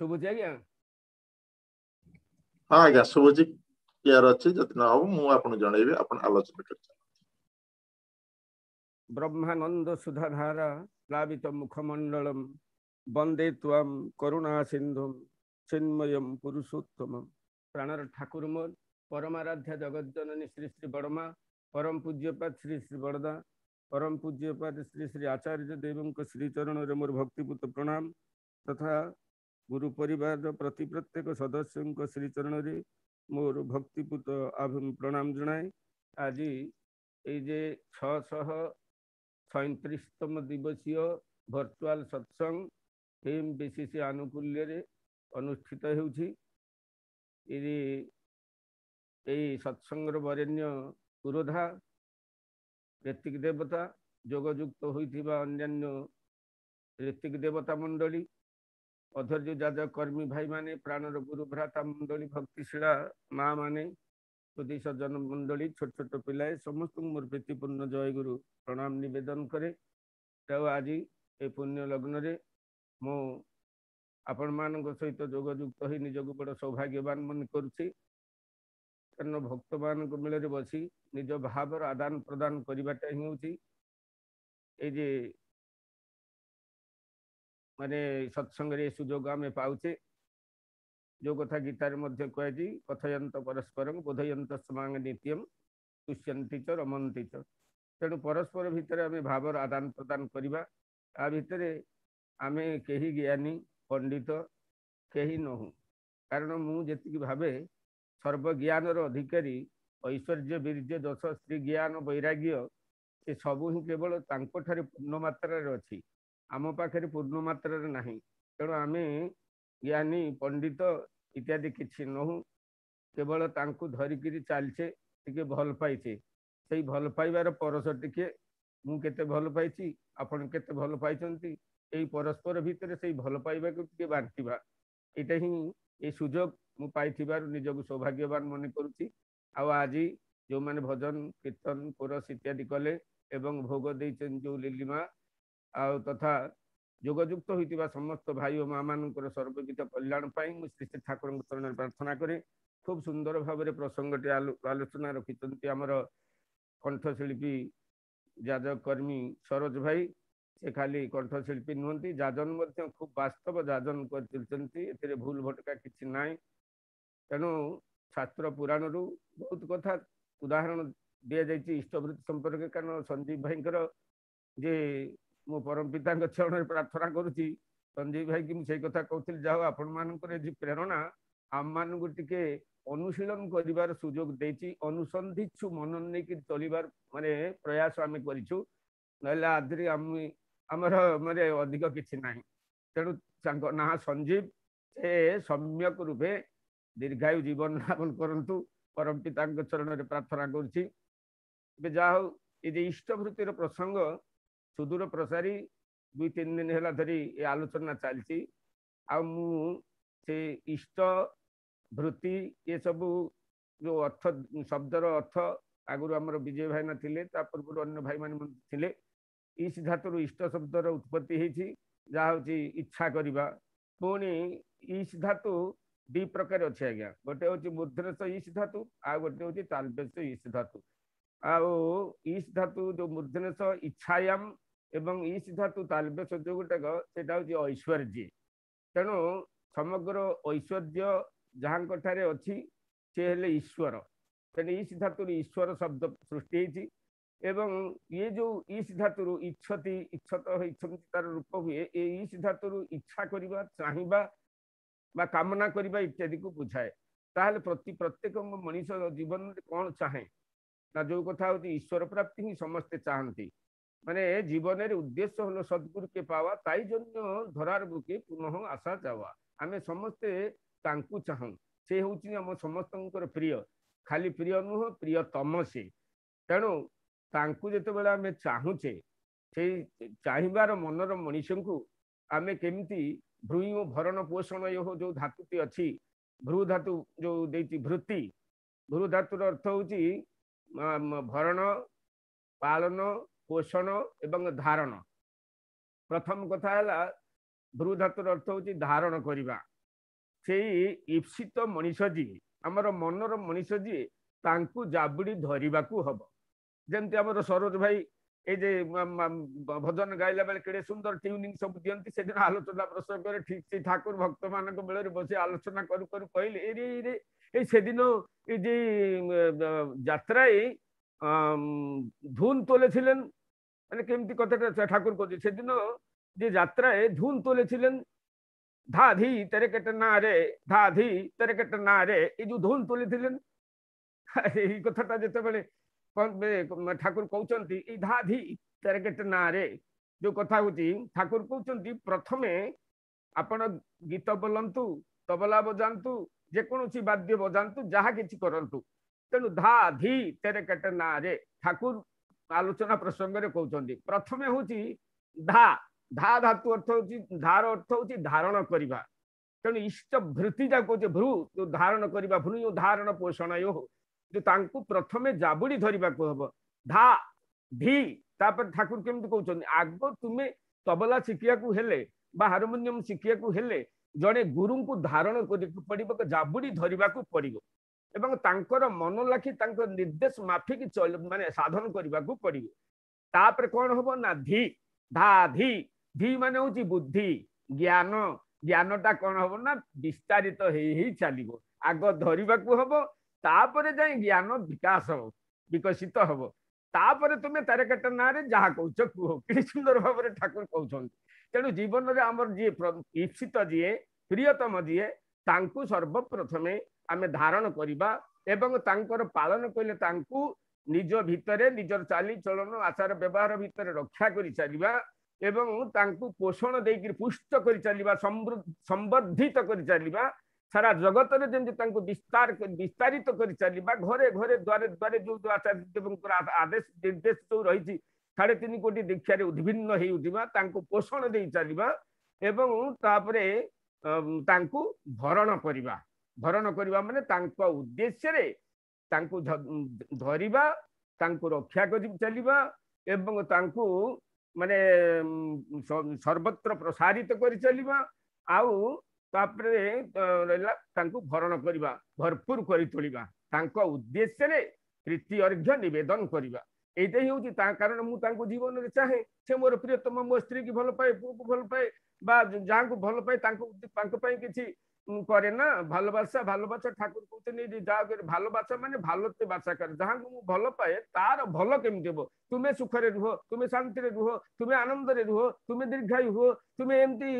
ଶୁଭୁଛି ଆଜ୍ଞା? ହଁ ଆଜ୍ଞା, ଶୁଭୁଛି, କ୍ଲିୟର ଅଛି। ଯଦି ନ ହବ, ମୁଁ ଆପଣଙ୍କୁ ଜଣେଇବି। ଆପଣ ଆଲୋଚନା କରି। ବ୍ରହ୍ମାନନ୍ଦ ସୁଧାଧାରା ପ୍ଲାବିତ ମୁଖମଣ୍ଡଳମ, ବନ୍ଦେ ତ୍ୱାಂ କରୁଣା ସିନ୍ଧୁମ ଚିନ୍ମୟମ୍ ପୁରୁଷୋତ୍ତମ। ପ୍ରାଣର ଠାକୁର ମୋର ପରମାରାଧ୍ୟା ଜଗତଜନନୀ ଶ୍ରୀ ଶ୍ରୀ ବଡ଼ମା, ପରମ ପୂଜ୍ୟପାଦ ଶ୍ରୀ ଶ୍ରୀ ବଡ଼ଦା, ପରମ ପୂଜ୍ୟପାଦ ଶ୍ରୀ ଶ୍ରୀ ଆଚାର୍ଯ୍ୟ ଦେବଙ୍କ ଶ୍ରୀଚରଣରେ ମୋର ଭକ୍ତିପୂତ ପ୍ରଣାମ ତଥା ଗୁରୁ ପରିବାରର ପ୍ରତି ପ୍ରତ୍ୟେକ ସଦସ୍ୟଙ୍କ ଶ୍ରୀଚରଣରେ ମୋର ଭକ୍ତିପୂତ ପ୍ରଣାମ ଜଣାଏ। ଆଜି ଏଇ ଯେ 637ତମ ଦିବସୀୟ ଭର୍ଚୁଆଲ ସତ୍ସଙ୍ଗ ଏମ୍ ବିସିସି ଆନୁକୂଲ୍ୟରେ ଅନୁଷ୍ଠିତ ହେଉଛି, ଏଇ ସତ୍ସଙ୍ଗର ବରେଣ୍ୟ ପୁରୋଧା ଋତ୍ୱିକ ଦେବତା, ଯୋଗଯୁକ୍ତ ହୋଇଥିବା ଅନ୍ୟାନ୍ୟ ଋତ୍ୱିକ ଦେବତା ମଣ୍ଡଳୀ, ଅଧୈର୍ଯ୍ୟ ଯାଜକ କର୍ମୀ ଭାଇମାନେ, ପ୍ରାଣର ଗୁରୁ ଭ୍ରାତା ମଣ୍ଡଳୀ, ଭକ୍ତିଶୀଳା ମା ମାନେ, ସୁଧୀ ସଜ୍ଜନ ମଣ୍ଡଳୀ, ଛୋଟ ଛୋଟ ପିଲାଏ, ସମସ୍ତଙ୍କୁ ମୋର ପ୍ରୀତିପୂର୍ଣ୍ଣ ଜୟଗୁରୁ ପ୍ରଣାମ ନିବେଦନ କରେ। ଆଉ ଆଜି ଏ ପୁଣ୍ୟ ଲଗ୍ନରେ ମୁଁ ଆପଣମାନଙ୍କ ସହିତ ଯୋଗଯୁକ୍ତ ହୋଇ ନିଜକୁ ବଡ଼ ସୌଭାଗ୍ୟବାନ ମନେ କରୁଛି, କାରଣ ଭକ୍ତମାନଙ୍କ ମେଳରେ ବସି ନିଜ ଭାବର ଆଦାନ ପ୍ରଦାନ କରିବାଟା ହିଁ ହେଉଛି ଏଇ ଯେ ମାନେ ସତ୍ସଙ୍ଗରେ ଏ ସୁଯୋଗ ଆମେ ପାଉଛେ। ଯେଉଁ କଥା ଗୀତାରେ ମଧ୍ୟ କୁହାଯାଇଛି, କଥୟନ୍ତ ପରସ୍ପରଂ ବୋଧୟନ୍ତ ସମାଙ୍ଗ ନିତ୍ୟମ ତୁଷ୍ୟନ୍ତି ଚ ରମନ୍ତି ଚ। ତେଣୁ ପରସ୍ପର ଭିତରେ ଆମେ ଭାବର ଆଦାନ ପ୍ରଦାନ କରିବା। ତା ଭିତରେ ଆମେ କେହି ଜ୍ଞାନୀ ପଣ୍ଡିତ କେହି ନହୁଁ, କାରଣ ମୁଁ ଯେତିକି ଭାବେ ସର୍ବଜ୍ଞାନର ଅଧିକାରୀ, ଐଶ୍ୱର୍ଯ୍ୟ ବୀର୍ଯ୍ୟ ଦୋଷ ସ୍ତ୍ରୀ ଜ୍ଞାନ ବୈରାଗ୍ୟ ସେ ସବୁ ହିଁ କେବଳ ତାଙ୍କଠାରେ ପୂର୍ଣ୍ଣ ମାତ୍ରାରେ ଅଛି, ଆମ ପାଖରେ ପୂର୍ଣ୍ଣ ମାତ୍ରାରେ ନାହିଁ। ତେଣୁ ଆମେ ଜ୍ଞାନୀ ପଣ୍ଡିତ ଇତ୍ୟାଦି କିଛି ନହୁଁ, କେବଳ ତାଙ୍କୁ ଧରିକିରି ଚାଲିଛେ, ଟିକେ ଭଲ ପାଇଛେ। ସେଇ ଭଲ ପାଇବାର ପରଶ ଟିକେ, ମୁଁ କେତେ ଭଲ ପାଇଛି, ଆପଣ କେତେ ଭଲ ପାଇଛନ୍ତି, ଏଇ ପରସ୍ପର ଭିତରେ ସେଇ ଭଲ ପାଇବାକୁ ଟିକେ ବାଣ୍ଟିବା, ଏଇଟା ହିଁ ଏଇ ସୁଯୋଗ ମୁଁ ପାଇଥିବାରୁ ନିଜକୁ ସୌଭାଗ୍ୟବାନ ମନେ କରୁଛି। ଆଉ ଆଜି ଯେଉଁମାନେ ଭଜନ କୀର୍ତ୍ତନ କୋରସ ଇତ୍ୟାଦି କଲେ ଏବଂ ଭୋଗ ଦେଇଛନ୍ତି ଯେଉଁ ଲିଲିମା, ଆଉ ତଥା ଯୋଗଯୁକ୍ତ ହୋଇଥିବା ସମସ୍ତ ଭାଇ ଓ ମା ମାନଙ୍କର ସର୍ବବିଧ କଲ୍ୟାଣ ପାଇଁ ମୁଁ ଶ୍ରୀ ଶ୍ରୀ ଠାକୁରଙ୍କ ଚରଣରେ ପ୍ରାର୍ଥନା କରେ। ଖୁବ୍ ସୁନ୍ଦର ଭାବରେ ପ୍ରସଙ୍ଗଟି ଆଲୋଚନା ରଖିଛନ୍ତି ଆମର କଣ୍ଠଶିଳ୍ପୀ ଯାଜକ କର୍ମୀ ସରୋଜ ଭାଇ। ସେ ଖାଲି କଣ୍ଠଶିଳ୍ପୀ ନୁହନ୍ତି, ଯାଜନ ମଧ୍ୟ ଖୁବ୍ ବାସ୍ତବ ଯାଜନ କରିଚାଲିଛନ୍ତି, ଏଥିରେ ଭୁଲ ଭଟକା କିଛି ନାହିଁ। ତେଣୁ ଶାସ୍ତ୍ର ପୁରାଣରୁ ବହୁତ କଥା ଉଦାହରଣ ଦିଆଯାଇଛି ଇଷ୍ଟବୃତ୍ତି ସମ୍ପର୍କରେ। କାରଣ ସଞ୍ଜୀବ ଭାଇଙ୍କର ଯେ ମୁଁ ପରମ ପିତାଙ୍କ ଚରଣରେ ପ୍ରାର୍ଥନା କରୁଛି, ସଞ୍ଜୀବ ଭାଇକି ମୁଁ ସେଇ କଥା କହୁଥିଲି, ଯାହା ହଉ ଆପଣମାନଙ୍କର ଏ ଯେ ପ୍ରେରଣା ଆମମାନଙ୍କୁ ଟିକେ ଅନୁଶୀଳନ କରିବାର ସୁଯୋଗ ଦେଇଛି, ଅନୁସନ୍ଧିଚ୍ଛୁ ମନ ନେଇକି ଚଳିବାର ମାନେ ପ୍ରୟାସ ଆମେ କରିଛୁ, ନହେଲେ ଆଦିରେ ଆମେ ଆମର ମାନେ ଅଧିକ କିଛି ନାହିଁ। ତେଣୁ ତାଙ୍କ ନାଁ ସଞ୍ଜୀବ, ସେ ସମ୍ୟକ ରୂପେ ଦୀର୍ଘାୟୁ ଜୀବନ ଯାପନ କରନ୍ତୁ, ପରମ ପିତାଙ୍କ ଚରଣରେ ପ୍ରାର୍ଥନା କରୁଛି। ଏବେ ଯାହା ହଉ, ଏ ଯେ ଇଷ୍ଟବୃତ୍ତିର ପ୍ରସଙ୍ଗ ସୁଦୂର ପ୍ରସାରୀ 2-3 ଦିନ ହେଲା ଧରି ଏ ଆଲୋଚନା ଚାଲିଛି। ଆଉ ମୁଁ ସେ ଇଷ୍ଟ ବୃତ୍ତି ଏସବୁ ଯେଉଁ ଅର୍ଥ, ଶବ୍ଦର ଅର୍ଥ ଆଗରୁ ଆମର ବିଜୟ ଭାଇନା ଥିଲେ, ତା ପୂର୍ବରୁ ଅନ୍ୟ ଭାଇମାନେ ମଧ୍ୟ ଥିଲେ। ଇଶ ଧାତୁରୁ ଇଷ୍ଟ ଶବ୍ଦର ଉତ୍ପତ୍ତି ହେଇଛି, ଯାହା ହେଉଛି ଇଚ୍ଛା କରିବା। ପୁଣି ଇଶ ଧାତୁ ଦୁଇ ପ୍ରକାର ଅଛି ଆଜ୍ଞା, ଗୋଟେ ହେଉଛି ମୂର୍ଧନ୍ୟ ଇଶ ଧାତୁ, ଆଉ ଗୋଟେ ହେଉଛି ତାଲବେଶ ଇଶ ଧାତୁ। ଆଉ ଇଶ ଧାତୁ ଯେଉଁ ମୂର୍ଧନ୍ୟ ଇଚ୍ଛାୟାମ ଏବଂ ଇଶ ଧାତୁ ତାଲବେଶ ଯେଉଁ ଗୋଟାକ, ସେଇଟା ହେଉଛି ଐଶ୍ୱର୍ଯ୍ୟ। ତେଣୁ ସମଗ୍ର ଐଶ୍ୱର୍ଯ୍ୟ ଯାହାଙ୍କ ଠାରେ ଅଛି ସେ ହେଲେ ଈଶ୍ୱର। ତେଣୁ ଇଶ ଧାତୁରୁ ଈଶ୍ୱର ଶବ୍ଦ ସୃଷ୍ଟି ହେଇଛି। ଏବଂ ଇଏ ଯେଉଁ ଇଶ ଧାତୁରୁ ଇଚ୍ଛତି, ଇଚ୍ଛତ ଇଚ୍ଛନ୍ତି ତାର ରୂପ ହୁଏ। ଏ ଇଶ ଧାତୁରୁ ଇଚ୍ଛା କରିବା, ଚାହିଁବା ବା କାମନା କରିବା ଇତ୍ୟାଦିକୁ ବୁଝାଏ। ତାହେଲେ ପ୍ରତ୍ୟେକ ମଣିଷ ଜୀବନରେ କ'ଣ ଚାହେଁ ନା, ଯୋଉ କଥା ହେଉଛି ଈଶ୍ୱର ପ୍ରାପ୍ତି ହିଁ ସମସ୍ତେ ଚାହାନ୍ତି। ମାନେ ଜୀବନରେ ଉଦ୍ଦେଶ୍ୟ ହলো ସଦ୍ଗୁରୁ କେ ପାୱା, ତାଇ ଜନ୍ୟ ଧରାର ବୁକେ ପୁନଃ ଆଶା ଯାୱା। ଆମେ ସମସ୍ତେ ତାଙ୍କୁ ଚାହୁଁ, ସେ ହେଉଛି ଆମ ସମସ୍ତଙ୍କର ପ୍ରିୟ, ଖାଲି ପ୍ରିୟ ନୁହଁ, ପ୍ରିୟତମ ସେ। ତେଣୁ ତାଙ୍କୁ ଯେତେବେଳେ ଆମେ ଚାହୁଁଛେ, ସେଇ ଚାହିଁବାର ମନର ମଣିଷଙ୍କୁ ଆମେ କେମିତି ଭ୍ରୂ ଭରଣ ପୋଷଣ ଯୋଉ ଧାତୁଟି ଅଛି, ଭ୍ରୂ ଧାତୁ ଯୋଉ ଦେଇଛି ଭୃତି, ଭ୍ରୂ ଧାତୁର ଅର୍ଥ ହେଉଛି ଭରଣ, ପାଳନ, ପୋଷଣ ଏବଂ ଧାରଣ। ପ୍ରଥମ କଥା ହେଲା ଭ୍ରୂ ଧାତୁର ଅର୍ଥ ହେଉଛି ଧାରଣ କରିବା। ସେଇ ଈପ୍ସିତ ମଣିଷ ଯିଏ, ଆମର ମନର ମଣିଷ ଯିଏ, ତାଙ୍କୁ ଜାବୁଡ଼ି ଧରିବାକୁ ହବ। ଯେମିତି ଆମର ସରୋଜ ଭାଇ ଏଇ ଯେ ଭଜନ ଗାଇଲା ବେଳେ କେଡ଼େ ସୁନ୍ଦର ଟ୍ୟୁନିଂ ସବୁ ଦିଅନ୍ତି, ସେଦିନ ଆଲୋଚନା ପ୍ରସଙ୍ଗରେ ଠିକ ସେଇ ଠାକୁର ଭକ୍ତମାନଙ୍କ ମେଳରେ ବସି ଆଲୋଚନା କରୁ କରୁ କହିଲେ, ଏରେ ଏରେ ଏଇ ସେଦିନ ଏଇ ଯେ ଯାତ୍ରାয় ଧୁନ তোলেছিলেন, মানে কেমতি কথাটা ঠাকুর কହୁଛି, সেদিন যে যাত্রায় ধুন তোলেছিলেন, ধা ধি তেরে কেটে না রে, ধা ধি তেরে কেটে না রে, এই যে ধুন তুলেছিলেন, এই কথাটা যেତେବେଳେ ଠାକୁର କହୁଛନ୍ତି, ଏଇ ଧା ଧି ତେରେ କେଟେ ନା ରେ ଯୋଉ କଥା ହଉଛି, ଠାକୁର କହୁଛନ୍ତି ପ୍ରଥମେ ଆପଣ ଗୀତ ବୋଲନ୍ତୁ, ତବଲା ବଜାନ୍ତୁ, ଯେକୌଣସି ବାଦ୍ୟ ବଜାନ୍ତୁ, ଯାହା କିଛି କରନ୍ତୁ, ତେଣୁ ଧା ଧି ତେରେ କେଟେ ନା ରେ ଠାକୁର ଆଲୋଚନା ପ୍ରସଙ୍ଗରେ କହୁଛନ୍ତି। ପ୍ରଥମେ ହଉଛି ଧା, ଧା ଧାତୁ ଅର୍ଥ ହଉଛି, ଧାର ଅର୍ଥ ହଉଛି ଧାରଣ କରିବା। ତେଣୁ ଇଷ୍ଟ ଭୃତି ଯାହା କହୁଛେ, ଭ୍ରୁ ଯୋଉ ଧାରଣ କରିବା, ଭ୍ରୁ ଯୋଉ ଧାରଣ ପୋଷଣ ଯୋଉ, ତାଙ୍କୁ ପ୍ରଥମେ ଜାବୁଡ଼ି ଧରିବାକୁ ହବ। ଧା ଧି, ତାପରେ ଠାକୁର କେମିତି କହୁଛନ୍ତି, ଆଗ ତୁମେ ତବଲା ଶିଖିବାକୁ ହେଲେ ବା ହାରମୋନିୟମ ଶିଖିବାକୁ ହେଲେ ଜଣେ ଗୁରୁଙ୍କୁ ଧାରଣ କରିବାକୁ ପଡିବ, ଜାବୁଡ଼ି ଧରିବାକୁ ପଡିବ ଏବଂ ତାଙ୍କର ମନ ଲାଖି ତାଙ୍କ ନିର୍ଦ୍ଦେଶ ମାଫିକି ମାନେ ସାଧନ କରିବାକୁ ପଡିବ। ତାପରେ କଣ ହବ ନା ଧି, ଧା ଧି, ଧି ମାନେ ହଉଛି ବୁଦ୍ଧି, ଜ୍ଞାନ। ଜ୍ଞାନଟା କଣ ହବ ନା ବିସ୍ତାରିତ ହେଇ ହେଇ ଚାଲିବ। ଆଗ ଧରିବାକୁ ହବ, ତାପରେ ଯାଇ ଜ୍ଞାନ ବିକାଶ ହବ, ବିକଶିତ ହବ। ତାପରେ ତୁମେ ତାରକେଟ ନାଁରେ ଯାହା କହୁଛ କୁହ। କି ସୁନ୍ଦର ଭାବରେ ଠାକୁର କହୁଛନ୍ତି। ତେଣୁ ଜୀବନରେ ଆମର ଯିଏ ଈପ୍ସିତ, ଯିଏ ପ୍ରିୟତମ, ଯିଏ, ତାଙ୍କୁ ସର୍ବପ୍ରଥମେ ଆମେ ଧାରଣ କରିବା ଏବଂ ତାଙ୍କର ପାଳନ କଲେ ତାଙ୍କୁ ନିଜ ଭିତରେ ନିଜର ଚାଲିଚଳନ ଆଚାର ବ୍ୟବହାର ଭିତରେ ରକ୍ଷା କରି ଚାଲିବା ଏବଂ ତାଙ୍କୁ ପୋଷଣ ଦେଇକରି ପୁଷ୍ଟ କରି ଚାଲିବା, ସମ୍ବର୍ଦ୍ଧିତ କରି ଚାଲିବା, ସାରା ଜଗତରେ ଯେମିତି ତାଙ୍କୁ ବିସ୍ତାରିତ କରି ଚାଲିବା। ଘରେ ଘରେ ଦ୍ୱାରେ ଦ୍ୱାରେ ଯୋଉ ଆଚାର୍ଯ୍ୟ ଦେବଙ୍କର ଆଦେଶ ନିର୍ଦ୍ଦେଶ ଯୋଉ ରହିଛି, 3.5 କୋଟି ଦୀକ୍ଷାରେ ଉଦ୍ଭିନ୍ନ ହେଇ ଉଠିବା, ତାଙ୍କୁ ପୋଷଣ ଦେଇ ଚାଲିବା ଏବଂ ତାପରେ ତାଙ୍କୁ ଭରଣ କରିବା। ଭରଣ କରିବା ମାନେ ତାଙ୍କ ଉଦ୍ଦେଶ୍ୟରେ ତାଙ୍କୁ ଧରିବା, ତାଙ୍କୁ ରକ୍ଷା କରି ଚାଲିବା ଏବଂ ତାଙ୍କୁ ମାନେ ସର୍ବତ୍ର ପ୍ରସାରିତ କରି ଚାଲିବା। ଆଉ ତାପରେ ରହିଲା ତାଙ୍କୁ ଭରଣ କରିବା, ଭରପୁର କରି ତୋଳିବା, ତାଙ୍କ ଉଦ୍ଦେଶ୍ୟରେ ପ୍ରୀତି ଅର୍ଘ୍ୟ ନିବେଦନ କରିବା। ଏଇଟା ହିଁ ହଉଛି ତା କାରଣ ମୁଁ ତାଙ୍କୁ ଜୀବନରେ ଚାହେଁ, ସେ ମୋର ପ୍ରିୟତମ, ମୋ ସ୍ତ୍ରୀକି ଭଲ ପାଏ, ପୁଅକୁ ଭଲ ପାଏ ବା ଯାହାକୁ ଭଲ ପାଏ ତାଙ୍କୁ ତାଙ୍କ ପାଇଁ କିଛି କରେ ନା। ଭାଲୋବାସା, ଭାଲୋବାସା ଠାକୁର କହୁଛନ୍ତି ଯାହା ଭାଲୋବାସା ମାନେ ଭାଲତେ ବାସା କରେ, ଯାହାକୁ ମୁଁ ଭଲ ପାଏ ତାର ଭଲ କେମିତି ହବ, ତୁମେ ସୁଖରେ ରୁହ, ତୁମେ ଶାନ୍ତିରେ ରୁହ, ତୁମେ ଆନନ୍ଦରେ ରୁହ, ତୁମେ ଦୀର୍ଘାୟୁ ହୁଅ, ତୁମେ ଏମିତି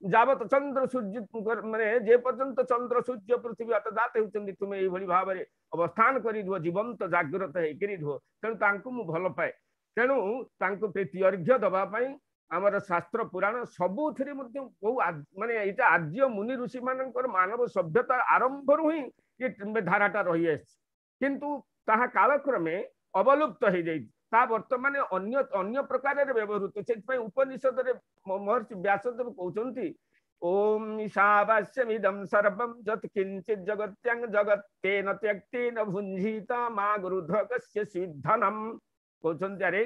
ଯାବତ ଚନ୍ଦ୍ର ସୂର୍ଯ୍ୟ ମାନେ ଯେ ପର୍ଯ୍ୟନ୍ତ ଚନ୍ଦ୍ର ସୂର୍ଯ୍ୟ ପୃଥିବୀ ଆତଯାତ ହେଉଛନ୍ତି ତୁମେ ଏଇଭଳି ଭାବରେ ଅବସ୍ଥାନ କରି ରୁହ, ଜୀବନ୍ତ ଜାଗ୍ରତ ହେଇକରି ରୁହ। ତେଣୁ ତାଙ୍କୁ ମୁଁ ଭଲ ପାଏ। ତେଣୁ ତାଙ୍କୁ ପ୍ରୀତି ଅର୍ଘ୍ୟ ଦବା ପାଇଁ ଆମର ଶାସ୍ତ୍ର ପୁରାଣ ସବୁଥିରେ ମଧ୍ୟ ବହୁ ମାନେ ଏଇଟା ଆର୍ଯ୍ୟ ମୁନି ଋଷି ମାନଙ୍କର ମାନବ ସଭ୍ୟତା ଆରମ୍ଭରୁ ହିଁ ଏ ଧାରାଟା ରହିଆସିଛି, କିନ୍ତୁ ତାହା କାଳକ୍ରମେ ଅବଲୁପ୍ତ ହେଇଯାଇଛି। ତା ବର୍ତ୍ତମାନ ଅନ୍ୟ ଅନ୍ୟ ପ୍ରକାରରେ ବ୍ୟବହୃତ। ସେଥିପାଇଁ ଉପନିଷଦରେ ମହର୍ଷି ବ୍ୟାସଦେବ କହୁଛନ୍ତି, ଓମ୍ ଈଶାବାସ୍ୟମିଦಂ ସର୍ବಂ ଯତ୍ କିଞ୍ଚିତ୍ ଜଗତ୍ୟାଂ ଜଗତ୍ତେନ ତ୍ୟକ୍ତେନ ଭୁଞ୍ଜିତା ମା ଗୃଧ କସ୍ୟ ସିଦ୍ଧନମ୍। କହୁଛନ୍ତି ଆରେ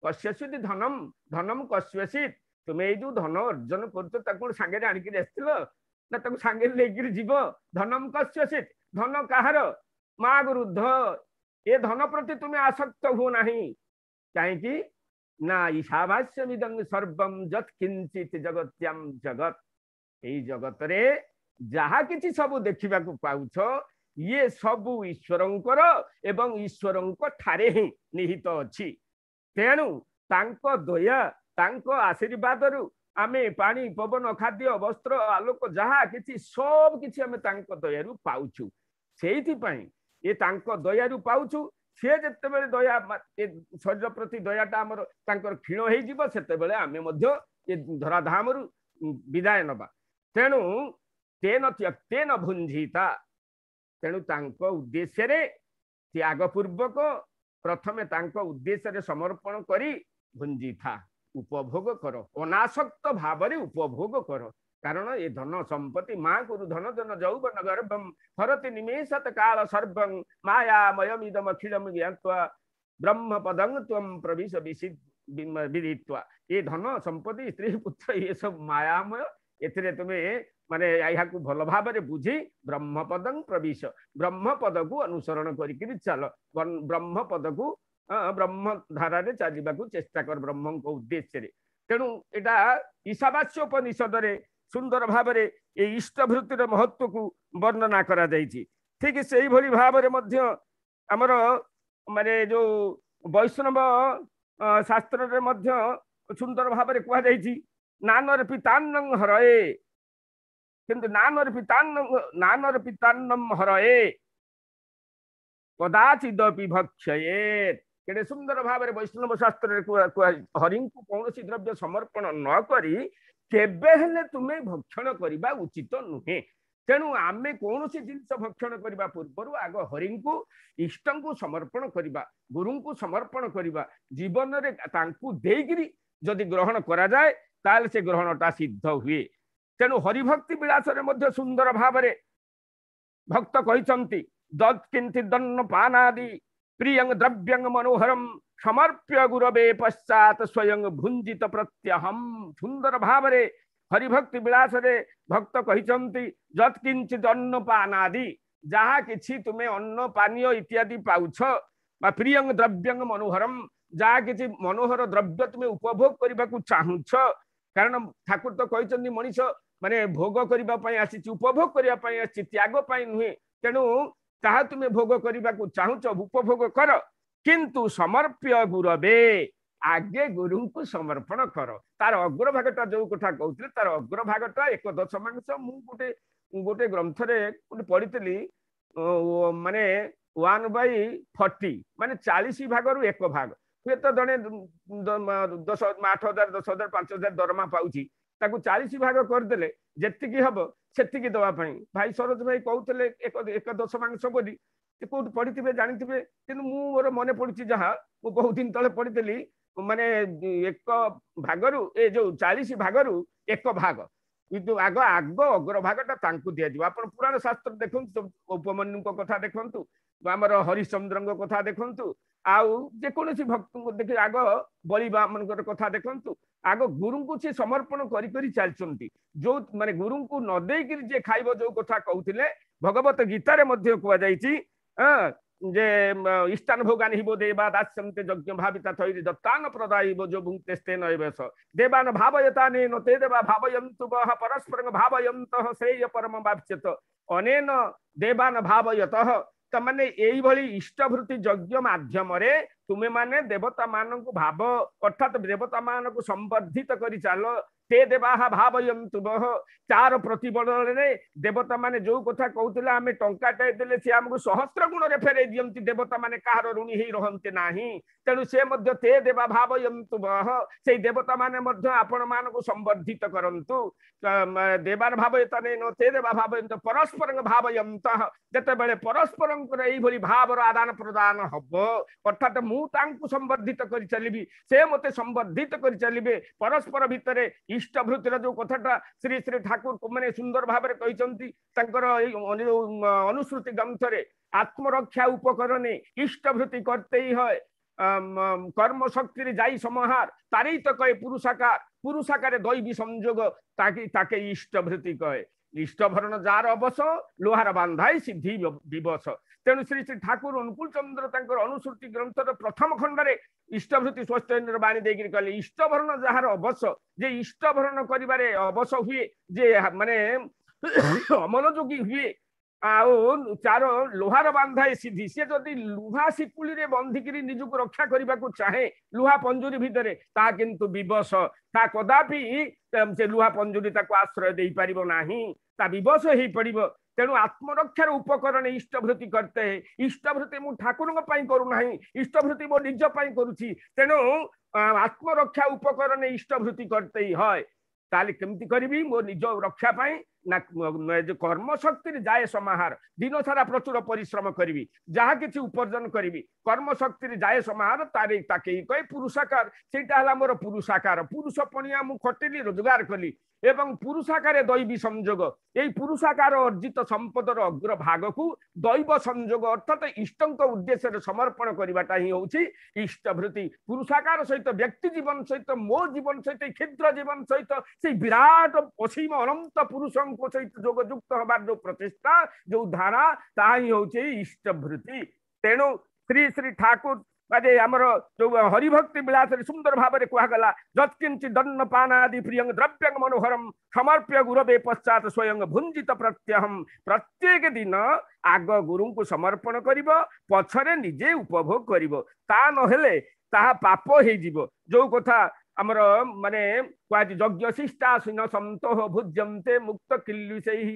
କସ୍ୟ ଧନମ୍, ଧନମ୍ କସ୍ୟସିତ୍, ତୁମେ ଏଇ ଯୋଉ ଧନ ଅର୍ଜନ କରୁଛ ତାକୁ କଣ ସାଙ୍ଗରେ ଆଣିକିରି ଆସିଥିଲ ନା ତାକୁ ସାଙ୍ଗରେ ନେଇକିରି ଯିବ? ଧନମ୍ କସ୍ୟସିତ୍, ଧନ କାହାର? ମା ଗୃଧ, ଏ ଧନ ପ୍ରତି ତୁମେ ଆସକ୍ତ ହୁଅ ନାହିଁ। କାହିଁକି ନା ଈଶାବାସ୍ୟମିଦଂ ସର୍ବଂ ଯତ୍ କିଞ୍ଚିତ୍ ଜଗତ୍ୟାಂ ଜଗତ୍, ଏଇ ଜଗତରେ ଯାହା କିଛି ସବୁ ଦେଖିବାକୁ ପାଉଛ ଇଏ ସବୁ ଈଶ୍ୱରଙ୍କର ଏବଂ ଈଶ୍ୱରଙ୍କ ଠାରେ ହିଁ ନିହିତ ଅଛି। ତେଣୁ ତାଙ୍କ ଦୟା, ତାଙ୍କ ଆଶୀର୍ବାଦରୁ ଆମେ ପାଣି, ପବନ, ଖାଦ୍ୟ, ବସ୍ତ୍ର, ଆଲୋକ ଯାହା କିଛି ସବୁ କିଛି ଆମେ ତାଙ୍କ ଦୟାରୁ ପାଉଛୁ। ସେଇଥିପାଇଁ ଏ ତାଙ୍କ ଦୟାରୁ ପାଉଛୁ। ସିଏ ଯେତେବେଳେ ଦୟା ଏ ଶରୀର ପ୍ରତି ଦୟାଟା ଆମର ତାଙ୍କର କ୍ଷୀଣ ହେଇଯିବ, ସେତେବେଳେ ଆମେ ମଧ୍ୟ ଏ ଧରାଧାମରୁ ବିଦାୟ ନେବା। ତେଣୁ ତେନ ତ୍ୟକ୍ତେନ ଭୁଞ୍ଜିତା, ତେଣୁ ତାଙ୍କ ଉଦ୍ଦେଶ୍ୟରେ ତ୍ୟାଗପୂର୍ବକ ପ୍ରଥମେ ତାଙ୍କ ଉଦ୍ଦେଶ୍ୟରେ ସମର୍ପଣ କରି ଭୁଞ୍ଜିଥା, ଉପଭୋଗ କର, ଅନାସକ୍ତ ଭାବରେ ଉପଭୋଗ କର। କାରଣ ଏ ଧନ ସମ୍ପତ୍ତି ମା କୁରୁ ଧନ ଜନ ଯୌବନ ଗର୍ଭಂ ହରତି ନିମେଷତ କାଳ ସର୍ବଂ ମାୟାମୟମିଦମ ଅଖିଳମ ଜ୍ଞାତ୍ୱା ବ୍ରହ୍ମ ପଦଂ ତ୍ୱಂ ପ୍ରବିଶ ବିଦିତ୍ୱା। ଏ ଧନ ସମ୍ପତ୍ତି ସ୍ତ୍ରୀ ପୁତ୍ର ଏ ସବୁ ମାୟାମୟ, ଏଥିରେ ତୁମେ ମାନେ ଏହାକୁ ଭଲ ଭାବରେ ବୁଝି ବ୍ରହ୍ମପଦଂ ପ୍ରବିଶ, ବ୍ରହ୍ମପଦକୁ ଅନୁସରଣ କରିକିରି ଚାଲ, ବ୍ରହ୍ମପଦକୁ ବ୍ରହ୍ମ ଧାରାରେ ଚାଲିବାକୁ ଚେଷ୍ଟା କର ବ୍ରହ୍ମଙ୍କ ଉଦ୍ଦେଶ୍ୟରେ। ତେଣୁ ଏଇଟା ଈଶାବାସ୍ୟ ଉପନିଷଦରେ ସୁନ୍ଦର ଭାବରେ ଏଇ ଇଷ୍ଟଭୃତ୍ତିର ମହତ୍ଵକୁ ବର୍ଣ୍ଣନା କରାଯାଇଛି। ଠିକ ସେଇଭଳି ଭାବରେ ମଧ୍ୟ ଆମର ମାନେ ଯୋଉ ବୈଷ୍ଣବ ଶାସ୍ତ୍ରରେ ମଧ୍ୟ ସୁନ୍ଦର ଭାବରେ କୁହାଯାଇଛି, ନାନର ପିତାନ୍ନଂ ହରଏ, କିନ୍ତୁ ନାନର ପିତାନ୍ନମ ହରଏ କଦାଚିଦପି ଭକ୍ଷୟେତ୍। କେଡ଼େ ସୁନ୍ଦର ଭାବରେ ବୈଷ୍ଣବ ଶାସ୍ତ୍ରରେ ହରିଙ୍କୁ କୌଣସି ଦ୍ରବ୍ୟ ସମର୍ପଣ ନ କରି କେବେ ହେଲେ ତୁମେ ଭକ୍ଷଣ କରିବା ଉଚିତ ନୁହେଁ। ତେଣୁ ଆମେ କୌଣସି ଜିନିଷ ଭକ୍ଷଣ କରିବା ପୂର୍ବରୁ ଆଗ ହରିଙ୍କୁ, ଇଷ୍ଟଙ୍କୁ ସମର୍ପଣ କରିବା, ଗୁରୁଙ୍କୁ ସମର୍ପଣ କରିବା। ଜୀବନରେ ତାଙ୍କୁ ଦେଇକିରି ଯଦି ଗ୍ରହଣ କରାଯାଏ ତାହେଲେ ସେ ଗ୍ରହଣଟା ସିଦ୍ଧ ହୁଏ। ତେଣୁ ହରିଭକ୍ତି ବିଳାସରେ ମଧ୍ୟ ସୁନ୍ଦର ଭାବରେ ଭକ୍ତ କହିଛନ୍ତି, ଦତ୍ କିନ୍ତି ଦନ୍ନ ପାନାଦି ପ୍ରିୟଂ ଦ୍ରବ୍ୟଂ ମନୋହରಂ ସମର୍ପ୍ୟ ଗୁରବେ ପଶ୍ଚାତ ସ୍ୱୟଂ ଭୁଞ୍ଜିତ ପ୍ରତ୍ୟହಂ। ସୁନ୍ଦର ଭାବରେ ହରିଭକ୍ତି ବିଳାସରେ ଭକ୍ତ କହିଛନ୍ତି, ଯତ୍ କିଞ୍ଚିତ ଅନ୍ନ ପାନାଦି, ଯାହା କିଛି ତୁମେ ଅନ୍ନ ପାନୀୟ ଇତ୍ୟାଦି ପାଉଛ, ବା ପ୍ରିୟଂ ଦ୍ରବ୍ୟଂ ମନୋହରಂ, ଯାହା କିଛି ମନୋହର ଦ୍ରବ୍ୟ ତୁମେ ଉପଭୋଗ କରିବାକୁ ଚାହୁଁଛ। କାରଣ ଠାକୁର ତ କହିଛନ୍ତି ମଣିଷ ମାନେ ଭୋଗ କରିବା ପାଇଁ ଆସିଛି, ଉପଭୋଗ କରିବା ପାଇଁ ଆସିଛି, ତ୍ୟାଗ ପାଇଁ ନୁହେଁ। ତେଣୁ ତାହା ତୁମେ ଭୋଗ କରିବାକୁ ଚାହୁଁଛ, ଉପଭୋଗ କର, କିନ୍ତୁ ସମର୍ପ୍ୟ ଗୁରବେ, ଆଗେ ଗୁରୁଙ୍କୁ ସମର୍ପଣ କର। ତାର ଅଗ୍ରଭାଗଟା ଯୋଉ କଥା କହୁଥିଲେ, ତାର ଅଗ୍ରଭାଗଟା 1/10। ମୁଁ ଗୋଟେ ଗୋଟେ ଗ୍ରନ୍ଥରେ ଗୋଟେ ପଢିଥିଲି, ମାନେ 1/40, ମାନେ 40 ଭାଗରୁ 1 ଭାଗ। ହୁଏତ ଜଣେ 10, 8,000, 10,000, 5,000 ଦରମା ପାଉଛି, ତାକୁ 40 ଭାଗ କରିଦେଲେ ଯେତିକି ହବ ସେତିକି ଦେବା ପାଇଁ ଭାଇ ସରୋଜ ଭାଇ କହୁଥିଲେ 1/10 ବୋଲି। ସେ କୋଉଠି ପଢିଥିବେ ଜାଣିଥିବେ, କିନ୍ତୁ ମୁଁ ମୋର ମନେ ପଡୁଛି ଯାହା ମୁଁ ବହୁତ ଦିନ ତଳେ ପଢିଥିଲି, ମାନେ 1 ଭାଗରୁ ଏ ଯୋଉ 40 ଭାଗରୁ 1 ଭାଗ, କିନ୍ତୁ ଆଗ ଆଗ ଅଗ୍ରଭାଗଟା ତାଙ୍କୁ ଦିଆଯିବ। ଆପଣ ପୁରାଣ ଶାସ୍ତ୍ର ଦେଖନ୍ତୁ, ଉପମନ୍ୟୁଙ୍କ କଥା ଦେଖନ୍ତୁ, ଆମର ହରିଶ୍ଚନ୍ଦ୍ରଙ୍କ କଥା ଦେଖନ୍ତୁ, ଆଉ ଯେକୌଣସି ଭକ୍ତଙ୍କୁ ଦେଖି ଆଗ ବଳିବାମନଙ୍କର କଥା ଦେଖନ୍ତୁ, ଆଗ ଗୁରୁଙ୍କୁ ସେ ସମର୍ପଣ କରି କରି ଚାଲିଛନ୍ତି। ଯୋଉ ମାନେ ଗୁରୁଙ୍କୁ ନ ଦେଇକିରି ଯିଏ ଖାଇବ, ଯୋଉ କଥା କହୁଥିଲେ ଭଗବତ ଗୀତାରେ ମଧ୍ୟ କୁହାଯାଇଛି, ଯେ ଇଷ୍ଟାନ ଭୋଗାନ ହିବ ଦେବା ଦାସ୍ୟନ୍ତେ ଯଜ୍ଞ ଭାବିତା ଥୈରି ଦତ୍ତାନ ପ୍ରଦାୟିବ ଯୋ ଭୁକ୍ତେସ୍ତେନ ଏବସ ଦେବାନ ଭାବୟତା ନେନ ତେ ଦେବା ଭାବୟନ୍ତୁ ବହ ପରସ୍ପରଂ ଭାବୟନ୍ତଃ ଶ୍ରେୟ ପରମ ବାପ୍ୟତ ଅନେନ ଦେବାନ ଭାବୟତଃ। ତାମାନେ ଏଇଭଳି ଇଷ୍ଟଭୃତି ଯଜ୍ଞ ମାଧ୍ୟମରେ ତୁମେ ମାନେ ଦେବତା ମାନଙ୍କୁ ଭାବ, ଅର୍ଥାତ ଦେବତା ମାନଙ୍କୁ ସମ୍ବର୍ଦ୍ଧିତ କରି ଚାଲ। ତେ ଦେବାହ ଭାବୟନ୍ତୁ ବହ, ତାର ପ୍ରତିବଦଳରେ ଦେବତା ମାନେ ଯୋଉ କଥା କହୁଥିଲେ ଆମେ ଟଙ୍କାଟାଏ ଦେଲେ ସେ ଆମକୁ ସହସ୍ର ଗୁଣରେ ଫେରେଇ ଦିଅନ୍ତି, ଦେବତା ମାନେ କାହାର ଋଣୀ ହେଇ ରହନ୍ତି ନାହିଁ। ତେଣୁ ସେ ମଧ୍ୟ ତେ ଦେବା ଭାବୟନ୍ତୁ ବହ, ସେଇ ଦେବତା ମାନେ ମଧ୍ୟ ଆପଣ ମାନଙ୍କୁ ସମ୍ବର୍ଦ୍ଧିତ କରନ୍ତୁ। ଦେବାର ଭାବୟତା ନେଇ ତେ ଦେବା ଭାବୟନ୍ତ ପରସ୍ପରଙ୍କ ଭାବୟନ୍ତଃ, ଯେତେବେଳେ ପରସ୍ପରଙ୍କର ଏଇଭଳି ଭାବର ଆଦାନ ପ୍ରଦାନ ହବ, ଅର୍ଥାତ ମୁଁ ତାଙ୍କୁ ସମ୍ବର୍ଦ୍ଧିତ କରି ଚାଲିବି, ସେ ମତେ ସମ୍ବର୍ଦ୍ଧିତ କରି ଚାଲିବେ, ପରସ୍ପର ଭିତରେ ଇଷ୍ଟଭୃତିର ଯୋଉ କଥାଟା ଶ୍ରୀ ଶ୍ରୀ ଠାକୁର ମାନେ ସୁନ୍ଦର ଭାବରେ କହିଛନ୍ତି ତାଙ୍କର ଏଇ ଅନୁଶ୍ରୁତି ଗ୍ରନ୍ଥରେ, ଆତ୍ମରକ୍ଷା ଉପକରଣେ ଇଷ୍ଟଭୃତି କର୍ତ୍ତେଇ হয় କର୍ମ ଶক্তিରେ যাই সমাহার, তারই তো কয়ে পুরুষাকার, পুরুষাকারে দৈবী সংযোগ তাকে তাকে ইষ্টভৃতি কয়ে। ইষ্টভরণ যার অবশ লোহার বান্ধাই সিদ্ধি বিবশ। ତେଣୁ ଶ୍ରୀ ଶ୍ରୀ ଠାକୁର ଅନୁକୂଳ ଚନ୍ଦ୍ର ତାଙ୍କର ଅନୁଶ୍ରୁତି ଗ୍ରନ୍ଥର ପ୍ରଥମ ଖଣ୍ଡରେ ଇଷ୍ଟଭୃତି ସ୍ୱସ୍ତୟନର ବାଣୀ ଦେଇକିରି କହିଲେ, ଇଷ୍ଟଭରଣ ଯାହାର ଅବଶ, ଯେ ଇଷ୍ଟଭରଣ କରିବାରେ ଅବଶ ହୁଏ, ଯେ ମାନେ ଅମନୋଯୋଗୀ ହୁଏ, ଆଉ ତାର ଲୋହାର ବାନ୍ଧାଏ ସିଦ୍ଧି। ସେ ଯଦି ଲୁହା ଶିକୁଳିରେ ବନ୍ଧିକିରି ନିଜକୁ ରକ୍ଷା କରିବାକୁ ଚାହେଁ ଲୁହା ପଞ୍ଜୁରୀ ଭିତରେ, ତାହା କିନ୍ତୁ ବିବଶ, ତା କଦାପି ସେ ଲୁହା ପଞ୍ଜୁରୀ ତାକୁ ଆଶ୍ରୟ ଦେଇପାରିବ ନାହିଁ, ତା ବିବଶ ହେଇପଡ଼ିବ। ତେଣୁ ଆତ୍ମରକ୍ଷାର ଉପକରଣ ଇଷ୍ଟଭୃତି କର୍ତ୍ତେ। ଇଷ୍ଟଭୃତି ମୁଁ ଠାକୁରଙ୍କ ପାଇଁ କରୁନାହିଁ, ଇଷ୍ଟଭୃତି ମୋ ନିଜ ପାଇଁ କରୁଛି। ତେଣୁ ଆତ୍ମରକ୍ଷା ଉପକରଣ ଇଷ୍ଟଭୃତି କର୍ତ୍ତେ হয়। ତାହେଲେ କେମିତି କରିବି ମୋ ନିଜ ରକ୍ଷା ପାଇଁ? ନା କର୍ମଶକ୍ତିରେ ଯାଏ ସମାହାର, ଦିନ ସାରା ପ୍ରଚୁର ପରିଶ୍ରମ କରିବି, ଯାହା କିଛି ଉପାର୍ଜନ କରିବି, କର୍ମଶକ୍ତିରେ ଯାଏ ସମାହାର, ତାରି ତାକେ କହେ ପୁରୁଷାକାର। ସେଇଟା ହେଲା ମୋର ପୁରୁଷାକାର, ପୁରୁଷ ପଣିଆ ମୁଁ ଖଟିଲି, ରୋଜଗାର କଲି, ଏବଂ ପୁରୁଷାକାରେ ଦୈବୀ ସଂଯୋଗ। ଏଇ ପୁରୁଷାକାର ଅର୍ଜିତ ସମ୍ପଦର ଅଗ୍ରଭାଗକୁ ଦୈବ ସଂଯୋଗ ଅର୍ଥାତ ଇଷ୍ଟଙ୍କ ଉଦ୍ଦେଶ୍ୟରେ ସମର୍ପଣ କରିବାଟା ହିଁ ହେଉଛି ଇଷ୍ଟଭୃତି। ପୁରୁଷାକାର ସହିତ ବ୍ୟକ୍ତି ଜୀବନ ସହିତ ମୋ ଜୀବନ ସହିତ କ୍ଷୁଦ୍ର ଜୀବନ ସହିତ ସେଇ ବିରାଟ ଅସୀମ ଅନନ୍ତ ପୁରୁଷଙ୍କ ଗୁରୁଙ୍କ ସହିତ ଯୋଗଯୁକ୍ତ ହେବାର ଯୋଉ ପ୍ରଚେଷ୍ଟା, ଯୋଉ ଧାରା, ତାହା ହିଁ ହଉଛି ଇଷ୍ଟଭୃତି। ତେଣୁ ଶ୍ରୀ ଶ୍ରୀ ଠାକୁର ମାନେ ଆମର ଯୋଉ ହରିଭକ୍ତି ବିଳାସରେ ସୁନ୍ଦର ଭାବରେ କୁହାଗଲା, ଯତ୍କିଞ୍ଚି ଦନ୍ନ ପାନାଦି ପ୍ରିୟଂ ଦ୍ରବ୍ୟଂ ମନୋହରମ ସମର୍ପ୍ୟ ଗୁରବେ ପଶ୍ଚାତ ସ୍ୱୟଂ ଭୁଞ୍ଜିତ ପ୍ରତ୍ୟହಂ। ପ୍ରତ୍ୟେକ ଦିନ ଆଗ ଗୁରୁଙ୍କୁ ସମର୍ପଣ କରିବ, ପଛରେ ନିଜେ ଉପଭୋଗ କରିବ। ତା ନହେଲେ ତାହା ପାପ ହେଇଯିବ। ଯୋଉ କଥା ଆମର ମାନେ କୁହାଯାଇଛି, ଯଜ୍ଞ ଶିଷ୍ଟାସୀନ ସନ୍ତୋହ ଭୁଜ୍ୟନ୍ତେ ମୁକ୍ତ କିଲ୍ଲୁଷୈଃ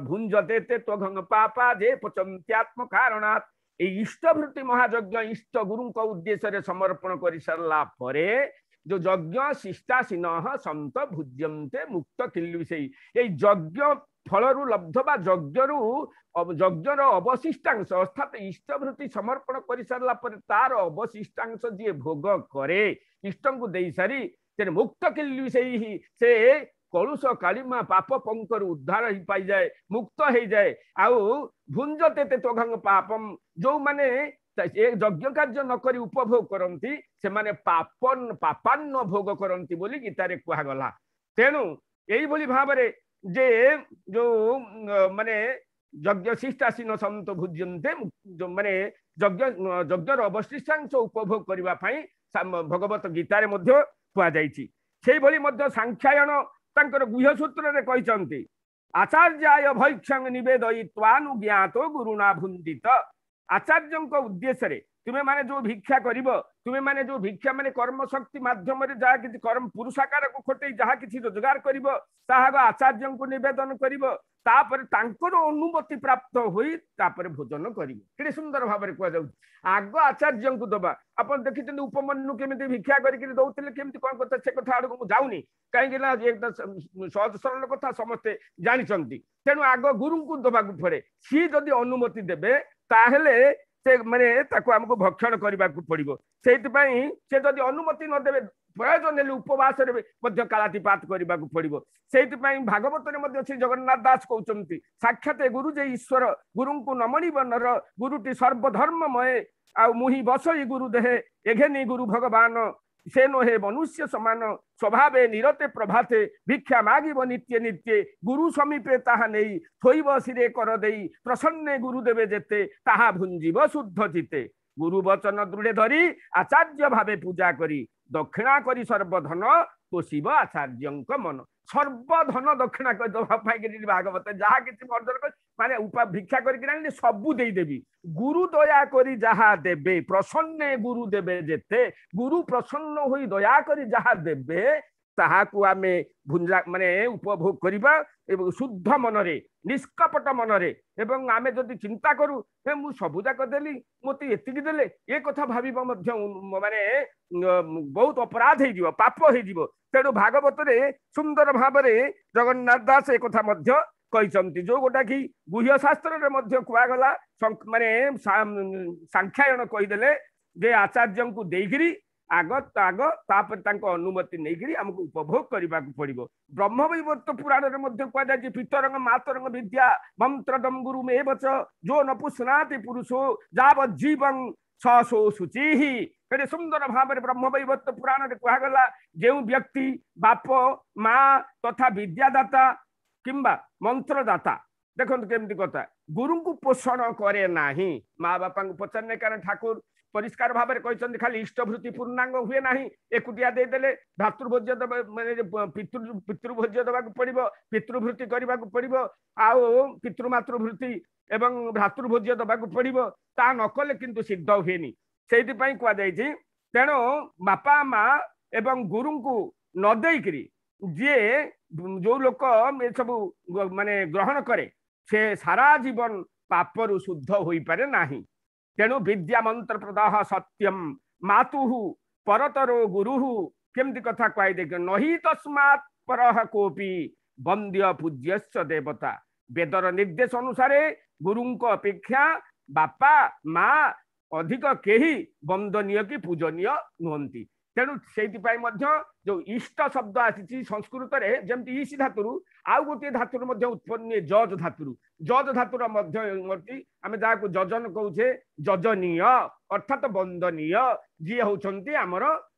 ଭୁଞ୍ଜତେ ତେ ତ୍ୱଘଂ ପାପା ଯେ ପଚନ୍ତ୍ୟାତ୍ମ କାରଣାତ୍। ଏଇ ଇଷ୍ଟଭୃତି ମହାଯଜ୍ଞ ଇଷ୍ଟ ଗୁରୁଙ୍କ ଉଦ୍ଦେଶ୍ୟରେ ସମର୍ପଣ କରିସାରିଲା ପରେ ଯୋଉ ଯଜ୍ଞ ଶିଷ୍ଟାସୀନ ସନ୍ତ ଭୁଜ୍ୟନ୍ତେ ମୁକ୍ତ କିଲ୍ଲୁଷୈଃ, ଏଇ ଯଜ୍ଞ ଫଳରୁ ଲବ୍ଧ ବା ଯଜ୍ଞରୁ ଯଜ୍ଞର ଅବଶିଷ୍ଟାଂଶ, ଅର୍ଥାତ୍ ଇଷ୍ଟଭୃତି ସମର୍ପଣ କରିସାରିଲା ପରେ ତାର ଅବଶିଷ୍ଟାଂଶ ଯିଏ ଭୋଗ କରେ ଇଷ୍ଟଙ୍କୁ ଦେଇସାରି, ସେ ମୁକ୍ତ କିଲ୍ଲୁଷୈଃ, ସେ କଳୁଷ କାଳିମା ପାପ ପଙ୍କରୁ ଉଦ୍ଧାର ହେଇ ପାଇଯାଏ, ମୁକ୍ତ ହେଇଯାଏ। ଆଉ ଭୁଞ୍ଜତେ ତେ ତ୍ୱଘଂ ପାପମ, ଯୋଉମାନେ ଏ ଯଜ୍ଞ କାର୍ଯ୍ୟ ନ କରି ଉପଭୋଗ କରନ୍ତି ସେମାନେ ପାପାନ୍ନ ଭୋଗ କରନ୍ତି ବୋଲି ଗୀତାରେ କୁହାଗଲା। ତେଣୁ ଏଇଭଳି ଭାବରେ ଯେ ଯୋଉ ମାନେ ଯଜ୍ଞ ଶିଷ୍ଟାସୀନ ସନ୍ତ ଭୁଜ୍ୟନ୍ତେ, ମାନେ ଯଜ୍ଞର ଅବଶିଷ୍ଟାଂଶ ଉପଭୋଗ କରିବା ପାଇଁ ଭଗବତ ଗୀତାରେ ମଧ୍ୟ କୁହାଯାଇଛି। ସେଇଭଳି ମଧ୍ୟ ସାଂଖ୍ୟାୟନ ତାଙ୍କର ଗୁହ୍ୟ ସୂତ୍ରରେ କହିଛନ୍ତି, ଆଚାର୍ଯ୍ୟାୟ ଭୈକ୍ଷଂ ନିବେଦୟିତ୍ୱାନୁଜ୍ଞାତ ଗୁରୁଣା ଭୁଞ୍ଜିତ। ଆଚାର୍ଯ୍ୟଙ୍କ ଉଦ୍ଦେଶ୍ୟରେ ତୁମେମାନେ ଯୋଉ ଭିକ୍ଷା କରିବ, ତୁମେମାନେ ଯୋଉ ଭିକ୍ଷା ମାନେ କର୍ମଶକ୍ତି ମାଧ୍ୟମରେ ଯାହା କିଛି କର୍ମ ପୁରୁଷାକାରକୁ ଖଟେଇ ଯାହା କିଛି ରୋଜଗାର କରିବ, ତାହା ଆଚାର୍ଯ୍ୟଙ୍କୁ ନିବେଦନ କରିବ, ତାପରେ ତାଙ୍କର ଅନୁମତି ପ୍ରାପ୍ତ ହୋଇ ତାପରେ ଭୋଜନ କରିବ। କେତେ ସୁନ୍ଦର ଭାବରେ କୁହାଯାଉଛି, ଆଗ ଆଚାର୍ଯ୍ୟଙ୍କୁ ଦବା। ଆପଣ ଦେଖିଛନ୍ତି ଉପମନ୍ୟୁ କେମିତି ଭିକ୍ଷା କରିକିରି ଦଉଥିଲେ, କେମିତି କଣ କଥା, ସେ କଥା ଆଡକୁ ମୁଁ ଯାଉନି, କାହିଁକି ନା ସହଜ ସରଳ କଥା ସମସ୍ତେ ଜାଣିଛନ୍ତି। ତେଣୁ ଆଗ ଗୁରୁଙ୍କୁ ଦବାକୁ ପଡେ, ସିଏ ଯଦି ଅନୁମତି ଦେବେ ତାହେଲେ ସେ ମାନେ ତାକୁ ଆମକୁ ଭକ୍ଷଣ କରିବାକୁ ପଡିବ। ସେଇଥିପାଇଁ ସେ ଯଦି ଅନୁମତି ନ ଦେବେ, ପ୍ରୟୋଜନ ହେଲେ ଉପବାସରେ ମଧ୍ୟ କାଳାତିପାତ କରିବାକୁ ପଡିବ। ସେଇଥିପାଇଁ ଭାଗବତରେ ମଧ୍ୟ ଶ୍ରୀ ଜଗନ୍ନାଥ ଦାସ କହୁଛନ୍ତି, ସାକ୍ଷାତ ଗୁରୁ ଯେ ଈଶ୍ୱର, ଗୁରୁଙ୍କୁ ନମଣିବ ନର, ଗୁରୁଟି ସର୍ବଧର୍ମମୟ, ଆଉ ମୁହିଁ ବସଇ ଗୁରୁ ଦେହେ, ଏଘେନି ଗୁରୁ ଭଗବାନ, ସେ ନୋହେ ମନୁଷ୍ୟ ସମାନ, ସ୍ୱଭାବେ ନିରତେ ପ୍ରଭାତେ, ଭିକ୍ଷା ମାଗିବ ନିତ୍ୟ ନିତ୍ୟେ, ଗୁରୁ ସମୀପେ ତାହା ନେଇ, ଥୋଇବ ଶିରେ କର ଦେଇ, ପ୍ରସନ୍ନେ ଗୁରୁଦେବେ ଯେତେ, ତାହା ଭୁଞ୍ଜିବ ଶୁଦ୍ଧ ଚିତ୍ତେ। ଗୁରୁ ବଚନ ଦୃଢ଼େ ଧରି, ଆଚାର୍ଯ୍ୟ ଭାବେ ପୂଜା କରି, ଦକ୍ଷିଣା କରି ସର୍ବଧନ, ପୋଷିବ ଆଚାର୍ଯ୍ୟଙ୍କ ମନ। ସର୍ବଧନ ଦକ୍ଷିଣା କରି ଦେବା ପାଇଁ ଭାଗବତ ଯାହା କିଛି ଅର୍ଜନ କରି ମାନେ ଭିକ୍ଷା କରିକି ଆଣିଲେ ସବୁ ଦେଇଦେବି। ଗୁରୁ ଦୟା କରି ଯାହା ଦେବେ, ପ୍ରସନ୍ନେ ଗୁରୁ ଦେବେ ଯେତେ, ଗୁରୁ ପ୍ରସନ୍ନ ହୋଇ ଦୟା କରି ଯାହା ଦେବେ ତାହାକୁ ଆମେ ଭୁଞ୍ଜା ମାନେ ଉପଭୋଗ କରିବା ଏବଂ ଶୁଦ୍ଧ ମନରେ, ନିଷ୍କପଟ ମନରେ। ଏବଂ ଆମେ ଯଦି ଚିନ୍ତା କରୁ, ହେ ମୁଁ ସବୁ ଯାକ ଦେଲି, ମୋତେ ଏତିକି ଦେଲେ, ଏ କଥା ଭାବିବା ମଧ୍ୟ ମାନେ ବହୁତ ଅପରାଧ ହେଇଯିବ, ପାପ ହେଇଯିବ। ତେଣୁ ଭାଗବତରେ ସୁନ୍ଦର ଭାବରେ ଜଗନ୍ନାଥ ଦାସ ଏ କଥା ମଧ୍ୟ କହିଛନ୍ତି, ଯୋଉ ଗୋଟା କି ଗୁହ୍ୟ ଶାସ୍ତ୍ରରେ ମଧ୍ୟ କୁହାଗଲା, ମାନେ ସାଂଖ୍ୟାୟନ କହିଦେଲେ ଯେ ଆଚାର୍ଯ୍ୟଙ୍କୁ ଦେଇକିରି ଆଗ ତାପରେ ତାଙ୍କ ଅନୁମତି ନେଇକିରି ଆମକୁ ଉପଭୋଗ କରିବାକୁ ପଡିବ। ବ୍ରହ୍ମବୈବର୍ତ୍ତ ପୁରାଣରେ ମଧ୍ୟ କୁହାଯାଇଛି, ପିତରଙ୍ଗ ମାତରଙ୍ଗ ବିଦ୍ୟା ମନ୍ତ୍ରଦମ ଗୁରୁ ମେବଚ ଯୋ ନ ପୁଷ୍ଣାତି ପୁରୁଷୋ ଯାବତ୍ ଜୀବଂ ସସୋ ଶୁଚିଃ। କେତେ ସୁନ୍ଦର ଭାବରେ ବ୍ରହ୍ମବୈବର୍ତ୍ତ ପୁରାଣରେ କୁହାଗଲା, ଯେଉଁ ବ୍ୟକ୍ତି ବାପ ମା ତଥା ବିଦ୍ୟାଦାତା କିମ୍ବା ମନ୍ତ୍ରଦାତା, ଦେଖନ୍ତୁ କେମିତି କଥା, ଗୁରୁଙ୍କୁ ପୋଷଣ କରେ ନାହିଁ, ମା ବାପାଙ୍କୁ ପଚାରିଲେ, କାରଣ ଠାକୁର ପରିଷ୍କାର ଭାବରେ କହିଛନ୍ତି ଖାଲି ଇଷ୍ଟଭୃତି ପୂର୍ଣ୍ଣାଙ୍ଗ ହୁଏ ନାହିଁ, ଏକୁଟିଆ ଦେଇଦେଲେ ଭ୍ରାତୃଭୋଜ୍ୟ ଦେବା ମାନେ ପିତୃଭୋଜ୍ୟ ଦେବାକୁ ପଡିବ, ପିତୃଭୃତି କରିବାକୁ ପଡିବ, ଆଉ ପିତୃମାତୃଭୃତି ଏବଂ ଭ୍ରାତୃଭୋଜ୍ୟ ଦେବାକୁ ପଡିବ, ତା ନ କଲେ କିନ୍ତୁ ସିଦ୍ଧ ହୁଏନି। ସେଇଥିପାଇଁ କୁହାଯାଇଛି, ତେଣୁ ବାପା ମା ଏବଂ ଗୁରୁଙ୍କୁ ନ ଦେଇକିରି ଯିଏ ଯୋଉ ଲୋକ ଏସବୁ ମାନେ ଗ୍ରହଣ କରେ, ସେ ସାରା ଜୀବନ ପାପରୁ ଶୁଦ୍ଧ ହୋଇପାରେ ନାହିଁ। ତେଣୁ ବିଦ୍ୟା ମନ୍ତ୍ର ପ୍ରଦାହ ସତ୍ୟମ ମାତୁହୁ ପରତରୋ ଗୁରୁହୁ, କେମିତି କଥା କୁହାଇ ଦେଖ, ନହି ତସ୍ମାତ୍ ପରହ କୋପି ବନ୍ଦ୍ୟ ପୂଜ୍ୟସ୍ୟ ଦେବତା। ବେଦର ନିର୍ଦ୍ଦେଶ ଅନୁସାରେ ଗୁରୁଙ୍କ ଅପେକ୍ଷା ବାପା ମା ଅଧିକ କେହି ବନ୍ଦନୀୟ କି ପୂଜନୀୟ ନୁହନ୍ତି। ତେଣୁ ସେଇଥିପାଇଁ ମଧ୍ୟ ଯୋଉ ଇଷ୍ଟ ଶବ୍ଦ ଆସିଛି ସଂସ୍କୃତରେ, ଯେମିତି ଇସି ଧାତୁରୁ ଆଉ ଗୋଟିଏ ଧାତୁରୁ ମଧ୍ୟ ଉତ୍ପନ୍ନ ହୁଏ, ଜଜ ଧାତୁରୁ। ଜଜ ଧାତୁର ମଧ୍ୟ ଆମେ ଯାହାକୁ ଯଜନ କହୁଛେ, ଯଜନୀୟ ଅର୍ଥାତ ବନ୍ଦନୀୟ, ଯିଏ ହଉଛନ୍ତି ଆମର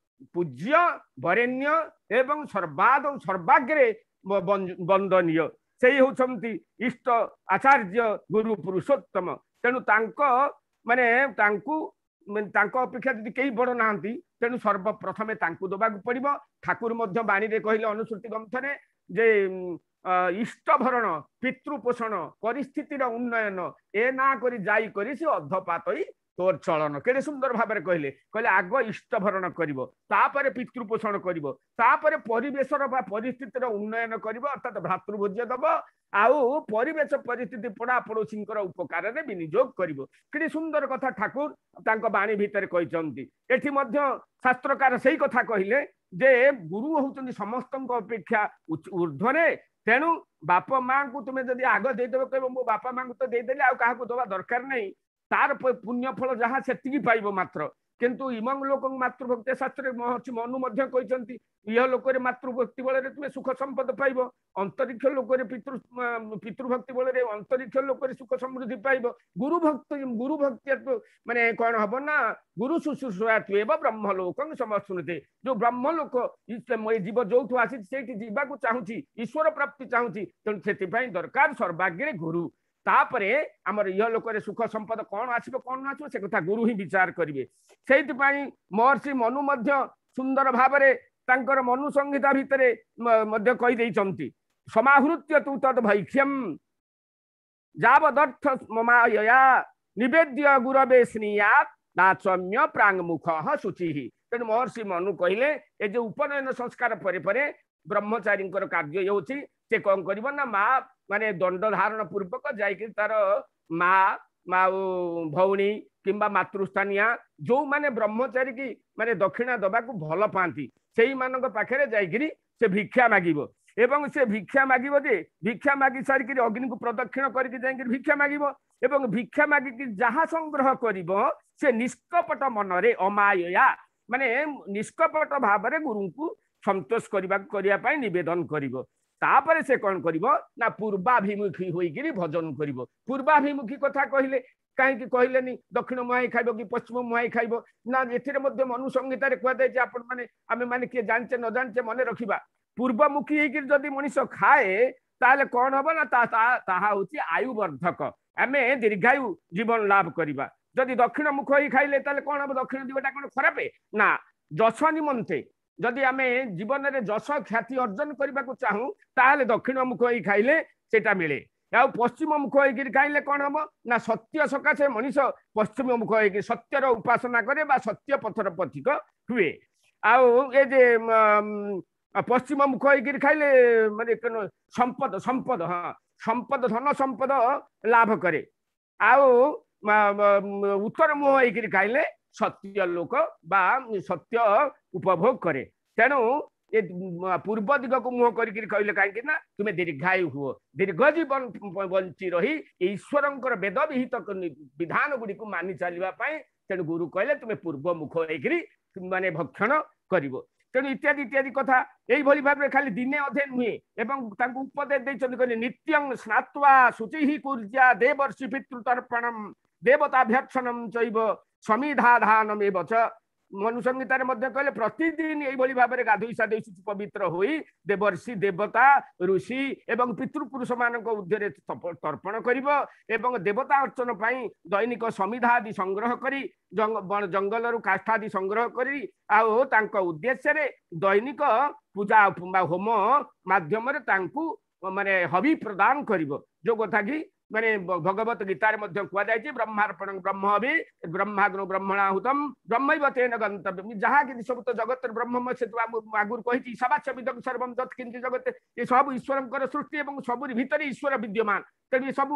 ପୂଜ୍ୟ ବରେଣ୍ୟ ଏବଂ ସର୍ବାଦ ସର୍ବାଗ୍ରେ ବନ୍ଦନୀୟ। ସେଇ ହେଉଛନ୍ତି ଇଷ୍ଟ ଆଚାର୍ଯ୍ୟ ଗୁରୁ ପୁରୁଷୋତ୍ତମ। ତେଣୁ ତାଙ୍କ ମାନେ ତାଙ୍କୁ ତାଙ୍କ ଅପେକ୍ଷା ଯଦି କେହି ବଡ଼ ନାହାନ୍ତି, ତେଣୁ ସର୍ବପ୍ରଥମେ ତାଙ୍କୁ ଦେବାକୁ ପଡ଼ିବ। ଠାକୁର ମଧ୍ୟ ବାଣୀରେ କହିଲେ ଅନୁସୃତି ଗ୍ରନ୍ଥରେ ଯେ ଇଷ୍ଟ ଭରଣ, ପିତୃପୋଷଣ, ପରିସ୍ଥିତିର ଉନ୍ନୟନ ଏ ନା କରି ଯାଇ କରି ସେ ଅଧପାତଇ ତୋର ଚଳନ। କେଡ଼େ ସୁନ୍ଦର ଭାବରେ କହିଲେ, କହିଲେ ଆଗ ଇଷ୍ଟ ଭରଣ କରିବ, ତାପରେ ପିତୃପୋଷଣ କରିବ, ତାପରେ ପରିବେଶର ବା ପରିସ୍ଥିତିର ଉନ୍ନୟନ କରିବ, ଅର୍ଥାତ ଭ୍ରାତୃଭୋଜ୍ୟ ଦବ, ଆଉ ପରିବେଶ ପରିସ୍ଥିତି ପଡ଼ା ପଡ଼ୋଶୀଙ୍କର ଉପକାରରେ ବିନିଯୋଗ କରିବ। କେଡ଼େ ସୁନ୍ଦର କଥା ଠାକୁର ତାଙ୍କ ବାଣୀ ଭିତରେ କହିଛନ୍ତି। ଏଠି ମଧ୍ୟ ଶାସ୍ତ୍ରକାର ସେଇ କଥା କହିଲେ ଯେ ଗୁରୁ ହଉଛନ୍ତି ସମସ୍ତଙ୍କ ଅପେକ୍ଷା ଊର୍ଦ୍ଧ୍ୱରେ। ତେଣୁ ବାପା ମାଙ୍କୁ ତୁମେ ଯଦି ଆଗ ଦେଇଦେବ, କହିବ ମୋ ବାପା ମାଙ୍କୁ ତ ଦେଇଦେଲି, ଆଉ କାହାକୁ ଦେବା ଦରକାର ନାହିଁ, ତାର ପୁଣ୍ୟ ଫଳ ଯାହା ସେତିକି ପାଇବ ମାତ୍ର। କିନ୍ତୁ ଇମଂ ଲୋକଙ୍କ ମାତୃଭକ୍ତି ଶାସ୍ତ୍ରରେ ମହର୍ଷି ମନୁ ମଧ୍ୟ କହିଛନ୍ତି, ଇହ ଲୋକରେ ମାତୃଭକ୍ତି ବଳରେ ତୁମେ ସୁଖ ସମ୍ପଦ ପାଇବ, ଅନ୍ତରିକ୍ଷ ଲୋକରେ ପିତୃଭକ୍ତି ବଳରେ ଅନ୍ତରିକ୍ଷ ଲୋକରେ ସୁଖ ସମୃଦ୍ଧି ପାଇବ। ଗୁରୁଭକ୍ତି, ଗୁରୁଭକ୍ତି ମାନେ କଣ ହବ ନା ଗୁରୁ ଶୁଶ୍ରୂଷା ବ୍ରହ୍ମ ଲୋକଂ ସମସ୍ତୁନତେ। ଯୋଉ ବ୍ରହ୍ମ ଲୋକ ଏ ଜୀବ ଯୋଉଠୁ ଆସିଛି ସେଇଠି ଯିବାକୁ ଚାହୁଁଛି, ଈଶ୍ୱର ପ୍ରାପ୍ତି ଚାହୁଁଛି, ତେଣୁ ସେଥିପାଇଁ ଦରକାର ସର୍ବାଗ୍ରେ ଗୁରୁ। ତାପରେ ଆମର ଇହ ଲୋକରେ ସୁଖ ସମ୍ପଦ କଣ ଆସିବ କଣ ନ ଆସିବ ସେ କଥା ଗୁରୁ ହିଁ ବିଚାର କରିବେ। ସେଇଥିପାଇଁ ମହର୍ଷି ମନୁ ମଧ୍ୟ ସୁନ୍ଦର ଭାବରେ ତାଙ୍କର ମନୁ ସଂହିତା ଭିତରେ ମଧ୍ୟ କହିଦେଇଛନ୍ତି, ସମାହୃତ୍ୟ ତୁ ତଦ୍ ଭୈକ୍ଷ୍ୟମ ଯାବଦର୍ଥ ମମାୟୟା ନିବେଦ୍ୟ ଗୁରବେ ସ୍ନିୟାତ୍ ଦାଚମ୍ୟ ପ୍ରାଙ୍ଗମୁଖ ଶୁଚିଃ। ତେଣୁ ମହର୍ଷି ମନୁ କହିଲେ ଏ ଯୋଉ ଉପନୟନ ସଂସ୍କାର ପରେ ପରେ ବ୍ରହ୍ମଚାରୀଙ୍କର କାର୍ଯ୍ୟ ହେଉଛି, ସେ କଣ କରିବ ନା ମା ମାନେ ଦଣ୍ଡ ଧାରଣ ପୂର୍ବକ ଯାଇକି ତାର ମା ଆଉ ଭଉଣୀ କିମ୍ବା ମାତୃସ୍ଥାନୀୟା ଯୋଉମାନେ ବ୍ରହ୍ମଚାରୀ କି ମାନେ ଦକ୍ଷିଣା ଦବାକୁ ଭଲ ପାଆନ୍ତି ସେଇମାନଙ୍କ ପାଖରେ ଯାଇକିରି ସେ ଭିକ୍ଷା ମାଗିବ। ଏବଂ ସେ ଭିକ୍ଷା ମାଗିବ ଯେ ଭିକ୍ଷା ମାଗି ସାରିକିରି ଅଗ୍ନିକୁ ପ୍ରଦକ୍ଷିଣ କରିକି ଯାଇକିରି ଭିକ୍ଷା ମାଗିବ, ଏବଂ ଭିକ୍ଷା ମାଗିକି ଯାହା ସଂଗ୍ରହ କରିବ ସେ ନିଷ୍କପଟ ମନରେ ଅମାୟୟା ମାନେ ନିଷ୍କପଟ ଭାବରେ ଗୁରୁଙ୍କୁ ସନ୍ତୋଷ କରିବା ପାଇଁ ନିବେଦନ କରିବ। ତାପରେ ସେ କଣ କରିବ ନା ପୂର୍ବାଭିମୁଖୀ ହୋଇକିରି ଭଜନ କରିବ। ପୂର୍ବାଭିମୁଖୀ କଥା କହିଲେ କାହିଁକି କହିଲେନି ଦକ୍ଷିଣ ମୁହାଁଇ ଖାଇବ କି ପଶ୍ଚିମ ମୁହାଁଇ ଖାଇବ ନା? ଏଥିରେ ମଧ୍ୟ ମନୁ ସଂହିତାରେ କୁହାଯାଇଛି, ଆପଣ ମାନେ ଆମେ ମାନେ କିଏ ଜାଣିଛେ ନ ଜାଣିଛେ ମନେ ରଖିବା, ପୂର୍ବମୁଖୀ ହେଇକିରି ଯଦି ମଣିଷ ଖାଏ ତାହେଲେ କଣ ହବ ନା ତାହା ହଉଛି ଆୟୁବର୍ଦ୍ଧକ, ଆମେ ଦୀର୍ଘାୟୁ ଜୀବନ ଲାଭ କରିବା। ଯଦି ଦକ୍ଷିଣ ମୁଖ ହେଇ ଖାଇଲେ ତାହେଲେ କଣ ହବ? ଦକ୍ଷିଣ ଦିଗଟା କଣ ଖରାପ ନା? ଯଶ ନିମନ୍ତେ ଯଦି ଆମେ ଜୀବନରେ ଯଶ ଖ୍ୟାତି ଅର୍ଜନ କରିବାକୁ ଚାହୁଁ ତାହେଲେ ଦକ୍ଷିଣ ମୁଖ ହେଇ ଖାଇଲେ ସେଇଟା ମିଳେ। ଆଉ ପଶ୍ଚିମ ମୁଖ ହେଇକିରି ଖାଇଲେ କଣ ହବ ନା ସତ୍ୟ ସକାଶେ ମଣିଷ ପଶ୍ଚିମ ମୁଖ ହେଇକି ସତ୍ୟର ଉପାସନା କରେ ବା ସତ୍ୟ ପଥର ପଥିକ ହୁଏ। ଆଉ ଏ ଯେ ପଶ୍ଚିମ ମୁଖ ହେଇକିରି ଖାଇଲେ ମାନେ ସମ୍ପଦ ସମ୍ପଦ ହଁ ସମ୍ପଦ ଧନ ସମ୍ପଦ ଲାଭ କରେ। ଆଉ ଉତ୍ତର ମୁହଁ ହେଇକିରି ଖାଇଲେ ସତ୍ୟ ଲୋକ ବା ସତ୍ୟ ଉପଭୋଗ କରେ। ତେଣୁ ଏ ପୂର୍ବ ଦିଗକୁ ମୁହଁ କରିକିରି କହିଲେ କାହିଁକି ନା ତୁମେ ଦୀର୍ଘାୟୁ ହୁଅ, ଦୀର୍ଘ ଜୀବନ ବଞ୍ଚି ରହି ଈଶ୍ୱରଙ୍କର ବେଦ ବିହିତ ବିଧାନ ଗୁଡ଼ିକୁ ମାନି ଚାଲିବା ପାଇଁ ତେଣୁ ଗୁରୁ କହିଲେ ତୁମେ ପୂର୍ବ ମୁଖ ହେଇକିରି ମାନେ ଭକ୍ଷଣ କରିବ। ତେଣୁ ଇତ୍ୟାଦି ଇତ୍ୟାଦି କଥା ଏଇଭଳି ଭାବରେ ଖାଲି ଦିନେ ଅଧେ ନୁହେଁ, ଏବଂ ତାଙ୍କୁ ଉପଦେଶ ଦେଇଛନ୍ତି, କହିଲେ ନିତ୍ୟଂ ସ୍ନାତ୍ୱା ଶୁଚିଃ କୁର୍ଯ୍ୟା ଦେବର୍ଷି ପିତୃତର୍ପଣମ୍ ଦେବତାଭ୍ୟର୍ଚ୍ଛନମ୍ ଚୈବ ସମିଧାଧାନମେବ ଚ। ମନୁ ସଂହିତାରେ ମଧ୍ୟ କହିଲେ ପ୍ରତିଦିନ ଏଇଭଳି ଭାବରେ ଗାଧୋଇ ସାଧୋଇ ଶୁଚି ପବିତ୍ର ହୋଇ ଦେବର୍ଷି ଦେବତା ଋଷି ଏବଂ ପିତୃପୁରୁଷ ମାନଙ୍କ ଉଦ୍ଧ୍ୟରେ ତର୍ପଣ କରିବ, ଏବଂ ଦେବତା ଅର୍ଚ୍ଚନ ପାଇଁ ଦୈନିକ ସମିଧା ଆଦି ସଂଗ୍ରହ କରି ଜଙ୍ଗଲରୁ କାଷ୍ଠ ଆଦି ସଂଗ୍ରହ କରି ଆଉ ତାଙ୍କ ଉଦ୍ଦେଶ୍ୟରେ ଦୈନିକ ପୂଜା ବା ହୋମ ମାଧ୍ୟମରେ ତାଙ୍କୁ ମାନେ ହବି ପ୍ରଦାନ କରିବ। ଯୋଉ କଥା କି ମାନେ ଭଗବତ ଗୀତାରେ ମଧ୍ୟ କୁହାଯାଇଛି, ବ୍ରହ୍ମାର୍ପଣ ବ୍ରହ୍ମ ହବି ବ୍ରହ୍ମାଗ୍ନୁ ବ୍ରହ୍ମଣାହୁତମ ବ୍ରହ୍ମୈବ ତେନ ଗନ୍ତବ୍ୟମ୍। ଯାହା କିଛି ସବୁ ତ ଜଗତରେ ବ୍ରହ୍ମମୟ, ସେ ତ ମୁଁ ଆଗରୁ କହିଛି ସବାସ୍ୟ ବିଦଂ ସର୍ବଂ ଯତ୍ କିଞ୍ଚ ଜଗତେ, ଏ ସବୁ ଈଶ୍ୱରଙ୍କର ସୃଷ୍ଟି ଏବଂ ସବୁରି ଭିତରେ ଈଶ୍ୱର ବିଦ୍ୟମାନ। ତେଣୁ ଏ ସବୁ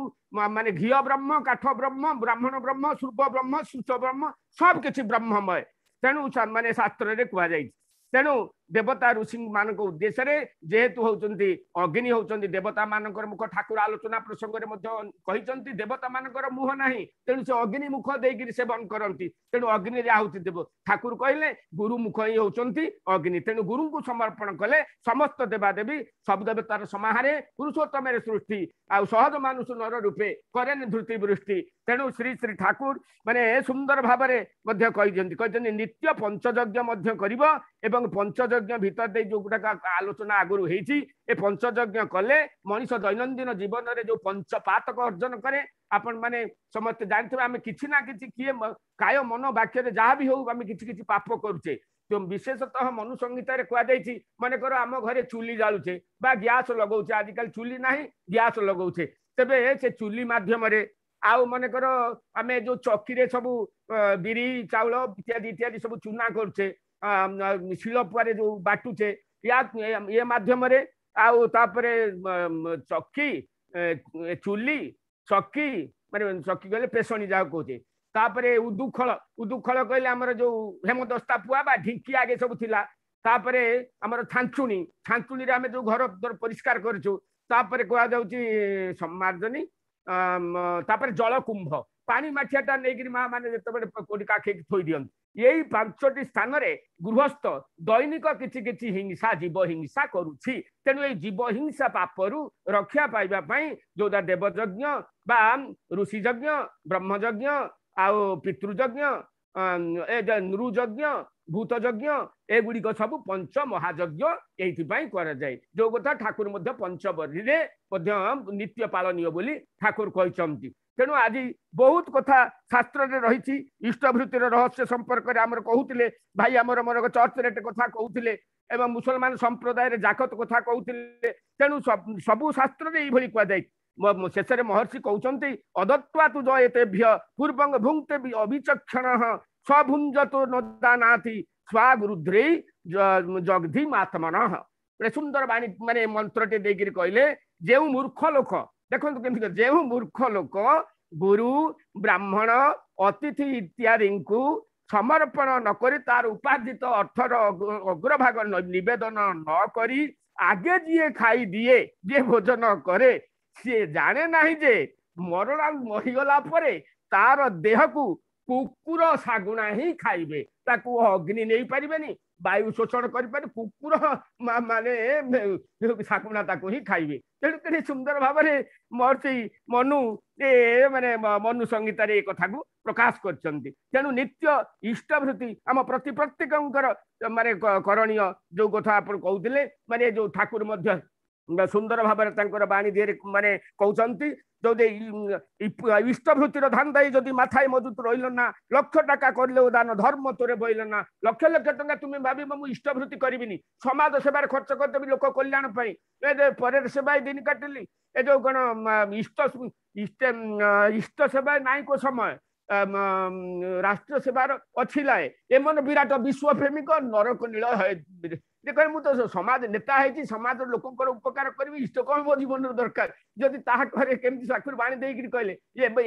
ମାନେ ଘିଅ ବ୍ରହ୍ମ, କାଠ ବ୍ରହ୍ମ, ବ୍ରାହ୍ମଣ ବ୍ରହ୍ମ, ସୂର୍ବ ବ୍ରହ୍ମ, ସୂଚ ବ୍ରହ୍ମ, ସବୁ କିଛି ବ୍ରହ୍ମମୟ। ତେଣୁ ମାନେ ଶାସ୍ତ୍ରରେ କୁହାଯାଇଛି। ତେଣୁ ଦେବତା ଋଷି ମାନଙ୍କ ଉଦ୍ଦେଶ୍ୟରେ ଯେହେତୁ ହଉଛନ୍ତି ଅଗ୍ନି ହଉଛନ୍ତି ଦେବତା ମାନଙ୍କର ମୁଖ, ଠାକୁର ଆଲୋଚନା ପ୍ରସଙ୍ଗରେ ମଧ୍ୟ କହିଛନ୍ତି ଦେବତା ମାନଙ୍କର ମୁହଁ ନାହିଁ, ତେଣୁ ସେ ଅଗ୍ନି ମୁଖ ଦେଇକିରି ସେବନ କରନ୍ତି। ତେଣୁ ଅଗ୍ନିରେ ଆହୁତି ଦେବ। ଠାକୁର କହିଲେ ଗୁରୁ ମୁଖ ହିଁ ହଉଛନ୍ତି ଅଗ୍ନି। ତେଣୁ ଗୁରୁଙ୍କୁ ସମର୍ପଣ କଲେ ସମସ୍ତ ଦେବାଦେବୀ ସବୁ ଦେବତାର ସମାହାରେ ପୁରୁଷୋତ୍ତମରେ ସୃଷ୍ଟି, ଆଉ ସହଜ ମାନୁଷ ନର ରୂପେ କରେନି ଧୃତି ବୃଷ୍ଟି। ତେଣୁ ଶ୍ରୀ ଶ୍ରୀ ଠାକୁର ମାନେ ସୁନ୍ଦର ଭାବରେ ମଧ୍ୟ କହିଛନ୍ତି, କହିଛନ୍ତି ନିତ୍ୟ ପଞ୍ଚଯଜ୍ଞ ମଧ୍ୟ କରିବ, ଏବଂ ପଞ୍ଚଯଜ୍ଞ ପଞ୍ଚଯଜ୍ଞ ଭିତର ଦେଇ ଯୋଉଗୁଟାକ ଆଲୋଚନା ଆଗରୁ ହେଇଛି, ଏ ପଞ୍ଚଯଜ୍ଞ କଲେ ମଣିଷ ଦୈନନ୍ଦିନ ଜୀବନରେ ଯୋଉ ପଞ୍ଚପାତକ ଅର୍ଜନ କରେ, ଆପଣ ମାନେ ସମସ୍ତେ ଜାଣିଥିବେ, ଆମେ କିଛି ନା କିଛି କିଏ କାୟ ମନ ବାକ୍ୟରେ ଯାହା ବି ହଉ ଆମେ କିଛି କିଛି ପାପ କରୁଛେ। ତ ବିଶେଷତଃ ମନୁ ସଂହିତାରେ କୁହାଯାଇଛି, ମନେକର ଆମ ଘରେ ଚୁଲି ଜାଳୁଛେ ବା ଗ୍ୟାସ ଲଗାଉଛେ, ଆଜିକାଲି ଚୁଲି ନାହିଁ ଗ୍ୟାସ ଲଗାଉଛେ, ତେବେ ସେ ଚୁଲି ମାଧ୍ୟମରେ, ଆଉ ମନେକର ଆମେ ଯୋଉ ଚକିରେ ସବୁ ବିରି ଚାଉଳ ଇତ୍ୟାଦି ଇତ୍ୟାଦି ସବୁ ଚୁନା କରୁଛେ, ଶିଳପୁଆରେ ଯୋଉ ବାଟୁଛେ, ୟା ଏ ମାଧ୍ୟମରେ, ଆଉ ତାପରେ ଚକି ଚୁଲି ଚକି ମାନେ ଚକି କହିଲେ ପେସଣୀ ଯାହାକୁ କହୁଛେ, ତାପରେ ଉଦୁଖଳ, ଉଦୁଖଳ କହିଲେ ଆମର ଯୋଉ ହେମଦସ୍ତା ପୁଆ ବା ଢିଙ୍କି ଆଗେ ସବୁ ଥିଲା, ତାପରେ ଆମର ଛାଞ୍ଚୁଣି, ଛାଞ୍ଚୁଣିରେ ଆମେ ଯୋଉ ଘର ପରିଷ୍କାର କରୁଛୁ, ତାପରେ କୁହାଯାଉଛି ସମ୍ମାର୍ଜନୀ, ତାପରେ ଜଳକୁମ୍ଭ, ପାଣି ମାଠିଆଟା ନେଇକିରି ମା ମାନେ ଯେତେବେଳେ କୋଉଠି କାଖେଇକି ଥୋଇ ଦିଅନ୍ତି। ଏଇ 5ଟି ସ୍ଥାନରେ ଗୃହସ୍ଥ ଦୈନିକ କିଛି କିଛି ହିଂସା, ଜୀବ ହିଂସା କରୁଛି। ତେଣୁ ଏଇ ଜୀବ ହିଂସା ପାପରୁ ରକ୍ଷା ପାଇବା ପାଇଁ ଯୋଉଟା ଦେବଯଜ୍ଞ ବା ଋଷି ଯଜ୍ଞ, ବ୍ରହ୍ମଯଜ୍ଞ, ଆଉ ପିତୃଯଜ୍ଞ, ଏ ନୃଯଜ୍ଞ, ଭୂତଯଜ୍ଞ, ଏଗୁଡ଼ିକ ସବୁ ପଞ୍ଚ ମହାଯଜ୍ଞ ଏଇଥିପାଇଁ କରାଯାଏ। ଯୋଉ କଥା ଠାକୁର ମଧ୍ୟ ପଞ୍ଚବରୀରେ ମଧ୍ୟ ନିତ୍ୟ ପାଳନୀୟ ବୋଲି ଠାକୁର କହିଛନ୍ତି। ତେଣୁ ଆଜି ବହୁତ କଥା ଶାସ୍ତ୍ରରେ ରହିଛି। ଇଷ୍ଟଭୃତିର ରହସ୍ୟ ସମ୍ପର୍କରେ ଆମର କହୁଥିଲେ ଭାଇ, ଆମର ମୋର ଚର୍ଚ୍ଚ ରେଟ୍ କଥା କହୁଥିଲେ ଏବଂ ମୁସଲମାନ ସମ୍ପ୍ରଦାୟରେ ଜାକତ କଥା କହୁଥିଲେ। ତେଣୁ ସବୁ ଶାସ୍ତ୍ରରେ ଏଇଭଳି କୁହାଯାଇଛି। ଶେଷରେ ମହର୍ଷି କହୁଛନ୍ତି, ଅଦତ୍ୱା ତୁ ଜୟତେଭ୍ୟ ପୂର୍ବଙ୍ଗ ଭୁଙ୍କ୍ତେ ଅବିଚକ୍ଷଣ ସ୍ୱଭୁଞ୍ଜତୋ ନ ଜାନାତି ସ୍ୱାଗୁରୁଧ୍ରେଇ ଜଗଧି ମାତ୍ମନଃ। ଗୋଟେ ସୁନ୍ଦର ବାଣୀ ମାନେ ମନ୍ତ୍ରଟି ଦେଇକିରି କହିଲେ, ଯେଉଁ ମୂର୍ଖ ଲୋକ, ଦେଖନ୍ତୁ କେମିତି, ଯେଉଁ ମୂର୍ଖ ଲୋକ ଗୁରୁ ବ୍ରାହ୍ମଣ ଅତିଥି ଇତ୍ୟାଦିଙ୍କୁ ସମର୍ପଣ ନ କରି ତାର ଉପାର୍ଜିତ ଅର୍ଥର ଅଗ୍ରଭାଗ ନିବେଦନ ନ କରି ଆଗେ ଯିଏ ଖାଇଦିଏ, ଯିଏ ଭୋଜନ କରେ, ସିଏ ଜାଣେ ନାହିଁ ଯେ ମରଣ ମରିଗଲା ପରେ ତାର ଦେହକୁ କୁକୁର ଶାଗୁଣା ହିଁ ଖାଇବେ, ତାକୁ ଅଗ୍ନି ନେଇପାରିବେନି, ବାୟୁ ଶୋଷଣ କରିପାରିବେ, କୁକୁର ମାନେ ଶାଗୁଣା ତାକୁ ହିଁ ଖାଇବେ। ତେଣୁ କେତେ ସୁନ୍ଦର ଭାବରେ ମହର୍ଷି ମନୁ ଏ ମାନେ ମନୁ ସଂହିତାରେ ଏ କଥାକୁ ପ୍ରକାଶ କରିଛନ୍ତି। ତେଣୁ ନିତ୍ୟ ଇଷ୍ଟଭୃତି ଆମ ପ୍ରତି ପ୍ରତ୍ୟେକଙ୍କର ମାନେ କରଣୀୟ। ଯୋଉ କଥା ଆପଣ କହୁଥିଲେ, ମାନେ ଯୋଉ ଠାକୁର ମଧ୍ୟ ସୁନ୍ଦର ଭାବରେ ତାଙ୍କର ବାଣୀ ଦିହରେ ମାନେ କହୁଛନ୍ତି, ଯଦି ଇଷ୍ଟଭୃତିର ଧାନ୍ଦାଇ ଯଦି ମାଥାଇ ମଜୁତ ରହିଲ ନା, ଲକ୍ଷ ଟଙ୍କା କରିଲେ ଦାନ ଧର୍ମ ତୋରେ ବଇଲ ନା। ଲକ୍ଷ ଲକ୍ଷ ଟଙ୍କା ତୁମେ ଭାବିବ ମୁଁ ଇଷ୍ଟଭୃତି କରିବିନି, ସମାଜ ସେବାରେ ଖର୍ଚ୍ଚ କରିଦେବି ଲୋକ କଲ୍ୟାଣ ପାଇଁ, ଏ ପରେ ସେବାଇ ଦିନ କାଟିଲି, ଏ ଯୋଉ କଣ ଇଷ୍ଟ ଇଷ୍ଟ ଇଷ୍ଟ ସେବା ନାଇଁ କୋ ସମୟ, ରାଷ୍ଟ୍ର ସେବାର ଅଛି ଲାଏ, ଏମନ ବିରାଟ ବିଶ୍ୱ ପ୍ରେମିକ ନରକ ନୀଳ। ଦେଖ ମୁଁ ତ ସମାଜ ନେତା ହେଇଛି, ସମାଜର ଲୋକଙ୍କର ଉପକାର କରିବି, ଇଷ୍ଟ କଣ ମୋ ଜୀବନରେ ଦରକାର, ଯଦି ତାହା କରେ କେମିତି ଠାକୁର ବାଣୀ ଦେଇକିରି କହିଲେ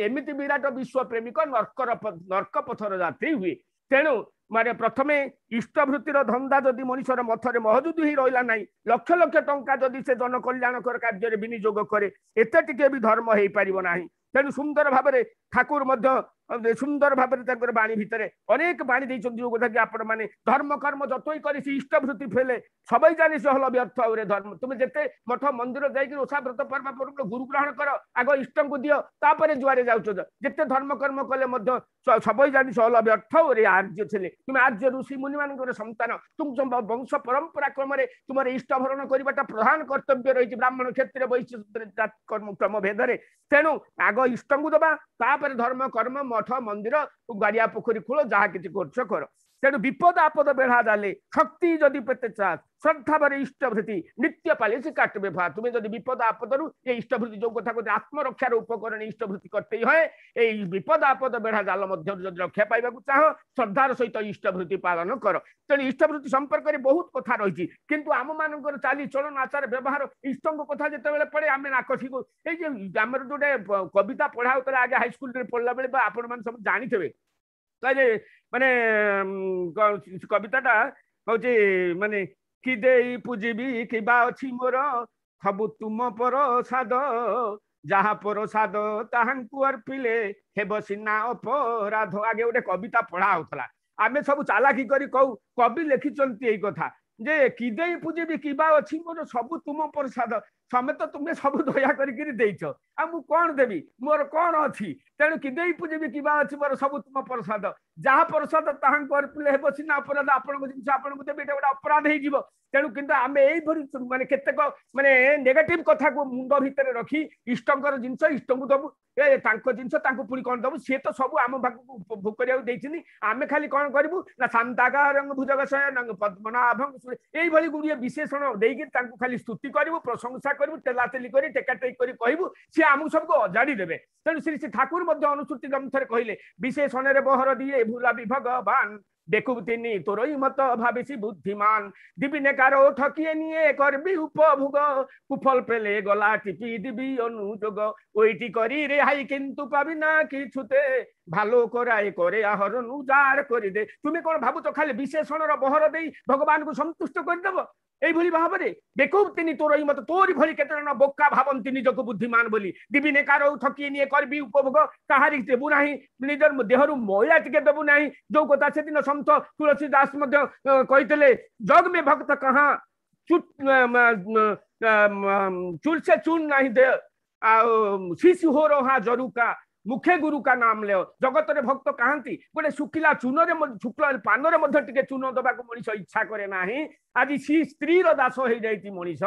ଏମିତି ବିରାଟ ବିଶ୍ୱ ପ୍ରେମିକ ନର୍କର ନର୍କ ପଥର ଯାତ୍ରୀ ହୁଏ। ତେଣୁ ମାନେ ପ୍ରଥମେ ଇଷ୍ଟଭୃତିର ଧନ୍ଦା ଯଦି ମଣିଷର ମଥରେ ମହଜୁଦ ହିଁ ରହିଲା ନାହିଁ, ଲକ୍ଷ ଲକ୍ଷ ଟଙ୍କା ଯଦି ସେ ଜନକଲ୍ୟାଣକର କାର୍ଯ୍ୟରେ ବିନିଯୋଗ କରେ, ଏତେ ଟିକେ ବି ଧର୍ମ ହେଇପାରିବ ନାହିଁ। ତେଣୁ ସୁନ୍ଦର ଭାବରେ ଠାକୁର ମଧ୍ୟ ସୁନ୍ଦର ଭାବରେ ତାଙ୍କର ବାଣୀ ଭିତରେ ଅନେକ ବାଣୀ ଦେଇଛନ୍ତି, ଯୋଉ କଥା କି ଆପଣ ମାନେ ଧର୍ମ କର୍ମ ଯତଇ କରି ସେ ଇଷ୍ଟଭୃତି ଫେଲେ ସବାଇ ଜାଣି ସେ ହଲ ବ୍ୟର୍ଥ ଆଉରେ ଧର୍ମ। ତୁମେ ଯେତେ ମଠ ମନ୍ଦିର ଯାଇକି ଓଷା ବ୍ରତ ପର୍ବ ପର୍ବ ଗୁରୁ ଗ୍ରହଣ କର, ଆଗ ଇଷ୍ଟଙ୍କୁ ଦିଅ, ତାପରେ ଯୁଆରେ ଯାଉଛ, ଯେତେ ଧର୍ମ କର୍ମ କଲେ ମଧ୍ୟ ସବାଇ ଜାଣି ସେ ହଲ ବ୍ୟର୍ଥ ରେ ଆର୍ଯ୍ୟ ଥିଲେ। ତୁମେ ଆର୍ଯ୍ୟ ଋଷି ମୁନି ମାନଙ୍କର ସନ୍ତାନ, ତୁମ ବଂଶ ପରମ୍ପରା କ୍ରମରେ ତୁମର ଇଷ୍ଟ ଭରଣ କରିବାଟା ପ୍ରଧାନ କର୍ତ୍ତବ୍ୟ ରହିଛି ବ୍ରାହ୍ମଣ କ୍ଷେତ୍ରୀୟ ବୈଶ୍ୟ କର୍ମ କ୍ରମ ଭେଦରେ। ତେଣୁ ଆଗ ଇଷ୍ଟଙ୍କୁ ଦବା, ତାପରେ ଧର୍ମ କର୍ମ ମଠ ମନ୍ଦିର ଗାଡ଼ିଆ ପୋଖରୀ ଖୋଳ ଯାହା କିଛି କରୁଛ କର। ତେଣୁ ବିପଦ ଆପଦ ବେଢା ଜାଲେ ଶକ୍ତି ଯଦି ପେତେ ଚାଷ ଶ୍ରଦ୍ଧାବରେ ଇଷ୍ଟଭୃତି ନିତ୍ୟ ପାଳି ସେ କାଟବେ ଭା। ତୁମେ ଯଦି ବିପଦ ଆପଦରୁ ଏ ଇଷ୍ଟଭୃତି ଯୋଉ କଥା କହୁଛ ଆତ୍ମରକ୍ଷାର ଉପକରଣ ଇଷ୍ଟଭୃତି କରତେ ହୁଏ, ଏଇ ବିପଦ ଆପଦ ବେଢା ଜାଲ ମଧ୍ୟରୁ ଯଦି ରକ୍ଷା ପାଇବାକୁ ଚାହଁ ଶ୍ରଦ୍ଧାର ସହିତ ଇଷ୍ଟଭୃତି ପାଳନ କର। ତେଣୁ ଇଷ୍ଟଭୃତି ସମ୍ପର୍କରେ ବହୁତ କଥା ରହିଛି, କିନ୍ତୁ ଆମ ମାନଙ୍କର ଚାଲି ଚଳନ ଆଚାର ବ୍ୟବହାର ଇଷ୍ଟଙ୍କ କଥା ଯେତେବେଳେ ପଡେ ଆମେ ନାକଠିକୁ ଏଇ ଯେ ଆମର ଯୋଉଟା କବିତା ପଢା ହଉଥିଲା ଆଗେ ହାଇସ୍କୁଲରେ ପଢିଲା ବେଳେ ବା ଆପଣମାନେ ସବୁ ଜାଣିଥିବେ, କହିଲେ ମାନେ କବିତାଟା ହଉଛି ମାନେ କି ଦେଇ ପୂଜିବି କିବା ଅଛି ମୋର ସବୁ ତୁମ ପରସାଦ, ଯାହା ପରସାଦ ତାହାଙ୍କୁ ଅର୍ପିଲେ ହେବ ସିନା ଅପରାଧ। ଆଗେ ଗୋଟେ କବିତା ପଢା ହଉଥିଲା, ଆମେ ସବୁ ଚାଲାକି କରି କହୁ କବି ଲେଖିଛନ୍ତି ଏଇ କଥା ଯେ କି ଦେଇ ପୂଜିବି କିବା ଅଛି ମୋର ସବୁ ତୁମ ପ୍ରସାଦ, ସମେତ ତୁମେ ସବୁ ଦୟା କରିକିରି ଦେଇଛ, ଆଉ ମୁଁ କଣ ଦେବି, ମୋର କଣ ଅଛି? ତେଣୁ କି ଦେଇ ପୂଜିବି କିବା ଅଛି ମୋର, ସବୁ ତୁମ ପ୍ରସାଦ। ଯାହା ପ୍ରସାଦ ତାହାଙ୍କୁ ଅର୍ପିଲେ ହେବ ସିନା ଅପରାଧ। ଆପଣଙ୍କ ଜିନିଷ ଆପଣଙ୍କୁ ଦେବି, ଏଇଟା ଗୋଟେ ଅପରାଧ ହେଇଯିବ। ତେଣୁ କିନ୍ତୁ ଆମେ ଏଇଭଳି ମାନେ କେତେକ ମାନେ ନେଗେଟିଭ କଥାକୁ ମୁଣ୍ଡ ଭିତରେ ରଖି ଇଷ୍ଟଙ୍କର ଜିନିଷ ଇଷ୍ଟଙ୍କୁ ଦବୁ, ଏ ତାଙ୍କ ଜିନିଷ ତାଙ୍କୁ ପୁଣି କଣ ଦବୁ? ସିଏ ତ ସବୁ ଆମ ପାଖକୁ ଭୋଗ କରିବାକୁ ଦେଇଛନ୍ତି। ଆମେ ଖାଲି କଣ କରିବୁ ନା ଶାନ୍ତାକାରଙ୍ଗ ଭୁଜଗ ଶୟନଂ ପଦ୍ମନାଭଂ, ଏଇଭଳି ଗୁଡ଼ିଏ ବିଶେଷଣ ଦେଇକି ତାଙ୍କୁ ଖାଲି ସ୍ତୁତି କରିବୁ, ପ୍ରଶଂସା କରିବୁ, ତେଲାତେଲି କରି ଟେକାଟେକି କରି କହିବୁ, ସିଏ ଆମକୁ ସବୁକୁ ଅଜାଡ଼ି ଦେବେ। ତେଣୁ ଶ୍ରୀ ଶ୍ରୀ ଠାକୁର ମଧ୍ୟ ଅନୁସୂଚୀ ଗ୍ରନ୍ଥରେ କହିଲେ, ବିଶେଷଣରେ ବହର ଦିଏ ଭୁଲା ଭଗବାନ, দেখুব তিনি তোরই মত ভাবিছি বুদ্ধিমান, দিবি কারো ঠকিয়ে নিয়ে করবি উপভোগ, কুফল পেলে গলা টিপি দিবি অনুযোগ, ওইটি করি রেহাই কিন্তু পাবি না কিছুতে, ভালো করাই করে আহরণ উজাড় করে দে। তুমি কোন ভাবুছ খালি বিশেষণর বহর দেই ভগবানକୁ ସନ୍ତୁଷ୍ଟ କରିଦେବ? এইଭଳି ଭାବରେ ବେକୁବ ତିନି ତୋର ମତ, ତୋରି ଭଳି କେତେ ଜଣ ବୋକା ଭାବନ୍ତି ନିଜକୁ ବୁଦ୍ଧିମାନ ବୋଲି। ଦିବିନେ କାରୋ ଠକି ନିଏ କରିବି ଉପଭୋଗ, କାହାରି ଦେବୁ ନାହିଁ, ନିଜର ଦେହରୁ ମଇଳା ଟିକେ ଦେବୁ ନାହିଁ। ଯୋଉ କଥା ସେଦିନ ସନ୍ଥ ତୁଳସୀ ଦାସ ମଧ୍ୟ କହିଥିଲେ, ଜଗ ମେ ଭକ୍ତ କହା ଚୁଲ ସେ ଚୁନ ନାହିଁ ଦେ, ଆଉ ଶିଶୁ ହୋ ରହା ଜରୁକା ମୁଖେ ଗୁରୁ କା ନାମ ଲେଅ। ଜଗତରେ ଭକ୍ତ କାହାନ୍ତି? ଗୋଟେ ଶୁଖିଲା ଚୂନରେ, ଶୁଖିଲା ପାନରେ ମଧ୍ୟ ଟିକେ ଚୂନ ଦବାକୁ ମଣିଷ ଇଚ୍ଛା କରେ ନାହିଁ। ଆଜି ସି ସ୍ତ୍ରୀର ଦାସ ହେଇଯାଇଛି ମଣିଷ।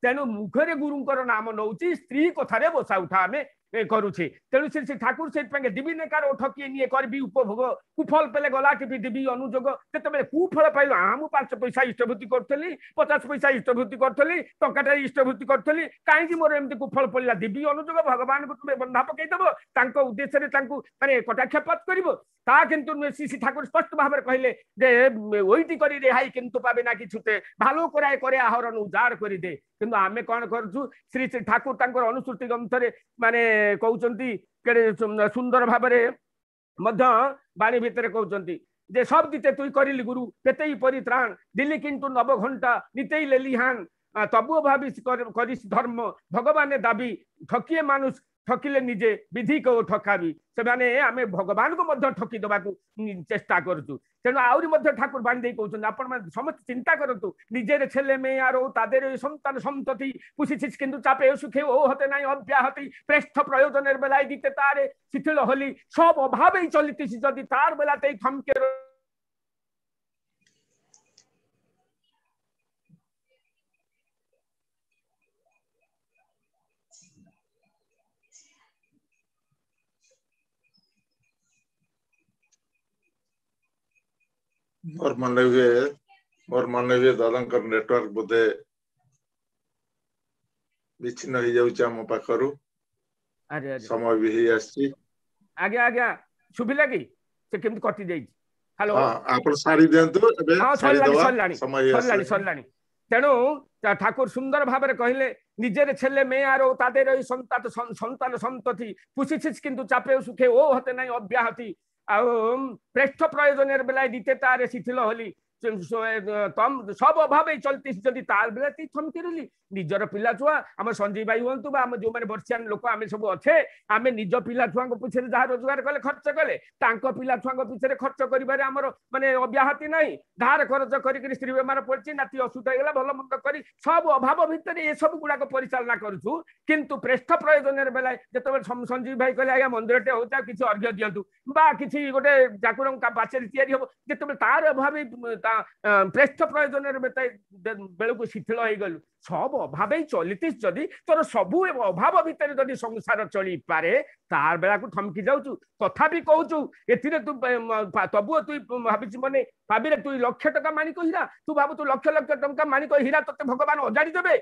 ତେଣୁ ମୁଖରେ ଗୁରୁଙ୍କର ନାମ ନଉଛି, ସ୍ତ୍ରୀ କଥାରେ ବସା ଉଠା ଆମେ କରୁଛେ। ତେଣୁ ଶ୍ରୀ ଶ୍ରୀ ଠାକୁର ସେଇଥିପାଇଁ ଦିବି କାର ଠକିଏ ନିଏ କରିବି ଉପଭୋଗ, କୁଫଳ ପେଲେ ଗଲା ଟିପି ଦିବି ଅନୁଯୋଗ। ଯେତେବେଳେ କୁଫଳ ପାଇଲୁ, ମୁଁ 5 ପଇସା ଇଷ୍ଟଭୂତି କରୁଥିଲି, 50 ପଇସା ଇଷ୍ଟଭୂତି କରୁଥିଲି, ଟଙ୍କାଟା ଇଷ୍ଟଭୂତି କରୁଥିଲି, କାହିଁକି ମୋର ଏମିତି କୁଫଳ ପଡ଼ିଲା? ଦିବି ଅନୁଯୋଗ। ଭଗବାନଙ୍କୁ ତୁମେ ବନ୍ଧା ପକେଇଦବ, ତାଙ୍କ ଉଦ୍ଦେଶ୍ୟରେ ତାଙ୍କୁ ମାନେ କଟାକ୍ଷପାତ କରିବ, ତା କିନ୍ତୁ ଶ୍ରୀ ଶ୍ରୀ ଠାକୁର ସ୍ପଷ୍ଟ ଭାବରେ କହିଲେ ଯେ ওইটি କରି ରେହାଇ କିନ୍ତୁ ପାବେ ନା কিছুতে, ভালো করায় করে আহরণ ଉଜାଡ଼ କରିଦେ। କିନ୍ତୁ ଆମେ କଣ କରୁଛୁ? ଶ୍ରୀ ଶ୍ରୀ ଠାକୁର ତାଙ୍କର ଅନୁସୃତି ଗ୍ରନ୍ଥରେ ମାନେ କହୁଛନ୍ତି, କେଡ଼େ ସୁନ୍ଦର ଭାବରେ ମଧ୍ୟ ବାଣୀ ଭିତରେ କହୁଛନ୍ତି ଯେ ସବ ଦିତେ ତୁଇ କରିଲି ଗୁରୁ କେତେଇ ପରିତ୍ରାଣ, ଦିଲି କିନ୍ତୁ ନବ ଘଣ୍ଟା ନିତେଇ ଲେଲିହାନ, ତବୁଅ ଭାବି କରିস ଧର୍ମ ଭଗବାନେ ଦାବି, ଠକିଏ মানুষ ଠକିଲେ ନିଜେ ବିଧି କଉ ଠକାବି। ସେମାନେ ଆମେ ଭଗବାନଙ୍କୁ ମଧ୍ୟ ଠକି ଦେବାକୁ ଚେଷ୍ଟା କରୁଛୁ। ତେଣୁ ଆହୁରି ମଧ୍ୟ ଠାକୁର ବାଣୀ ଦେଇ କହୁଛନ୍ତି, ଆପଣମାନେ ସମସ୍ତେ ଚିନ୍ତା କରନ୍ତୁ, ନିଜେର ছেলে মেয়ে আর তাদের সন্তান সন্ততি পুষিছিস কিন্তু চাপে সুখে ও হতে নাই অব্যাহতি, প্রেষ্ঠ প্রয়োজনের বেলায় দিতে তারে শিথিল হলি, সব অভাবেই চলিতেছি যদি তার বেলাতেই থমকে। ମୋର ମନେ ହୁଏ, ମୋର ମନେ ହୁଏ ଦାଦାଙ୍କର ନେଟୱାର୍କ ବୋଧେ ବିଚ୍ଛିନ୍ନ ହେଇଯାଉଛି ଆମ ପାଖରୁ। ସମୟ ବି ହେଇ ଆସିଛି। ଆଜ୍ଞା ଆଜ୍ଞା, ଶୁଭିଲା କି? ସେ କେମିତି କଟି ଯାଇଛି? ହ୍ୟାଲୋ, ଆପଣ ସାରି ଦିଅନ୍ତୁ। ହଁ, ସରିଲାଣି ସରିଲାଣି ସରିଲାଣି ସରିଲାଣି। ତେଣୁ ଠାକୁର ସୁନ୍ଦର ଭାବରେ କହିଲେ, নিজের ছেলে মেয়ে আর তাদের ওই সন্তান সন্তান সন্ততি পুষিছিস কিন্তু চাপে সুখে ও হতে নাই অব্যাহতি, ଆଉ প্রেষ্ঠ প্রয়োজনের বেলায় দিতে তারে শিথিল হলি, সব অভাবে চলতিস যদি তার বেলাতেই থমকি রহিলি। ନିଜର ପିଲା ଛୁଆ, ଆମ ସଞ୍ଜୀବ ଭାଇ ହୁଅନ୍ତୁ ବା ଆମ ଯୋଉମାନେ ବର୍ଷିଆନ ଲୋକ ଆମେ ସବୁ ଅଛେ, ଆମେ ନିଜ ପିଲା ଛୁଆଙ୍କ ପିଛରେ ଯାହା ରୋଜଗାର କଲେ ଖର୍ଚ୍ଚ କଲେ, ତାଙ୍କ ପିଲା ଛୁଆଙ୍କ ପିଛରେ ଖର୍ଚ୍ଚ କରିବାରେ ଆମର ମାନେ ଅବ୍ୟାହତି ନାହିଁ। ଧାର ଖରଚ କରିକିରି ସ୍ତ୍ରୀ ବେମାର ପଡ଼ିଛି, ନାତି ଅସୁସ୍ଥ ହେଇଗଲା, ଭଲ ମନ୍ଦ କରି ସବୁ ଅଭାବ ଭିତରେ ଏସବୁ ଗୁଡାକ ପରିଚାଳନା କରୁଛୁ। କିନ୍ତୁ ପ୍ରେଷ୍ଠ ପ୍ରୟୋଜନରେ ବେଲାଏ ଯେତେବେଳେ ସଞ୍ଜୀବ ଭାଇ କହିଲେ ଆଜ୍ଞା ମନ୍ଦିରଟେ ହଉଛି ଆଉ କିଛି ଅର୍ଘ୍ୟ ଦିଅନ୍ତୁ ବା କିଛି ଗୋଟେ ଠାକୁରଙ୍କ ପାଚେରୀ ତିଆରି ହବ, ଯେତେବେଳେ ତାର ଅଭାବ ପ୍ରେଷ୍ଠ ପ୍ରୟୋଜନରେ ବେଳକୁ ଶିଥିଳ ହେଇଗଲୁ। ସବ ଅଭାବେ ଚଲିତିস ଯଦି ତୋର ସବୁ ଅଭାବ ଭିତରେ ଯଦି ସଂସାର ଚଳିପାରେ, ତାର ବେଳାକୁ ଥମକି ଯାଉଛୁ, ତଥାପି କହୁଛୁ ଏଥିରେ ତୁ ତବୁଅ ତୁଇ ଭାବିଛୁ ମାନେ ଭାବିରେ ତୁଇ ଲକ୍ଷ ଟଙ୍କା ମାଣିକ ହୀରା, ତୁ ଭାବୁଛୁ ଲକ୍ଷ ଲକ୍ଷ ଟଙ୍କା ମାଣିକ ହୀରା ତତେ ଭଗବାନ ଅଜାଡ଼ି ଦେବେ?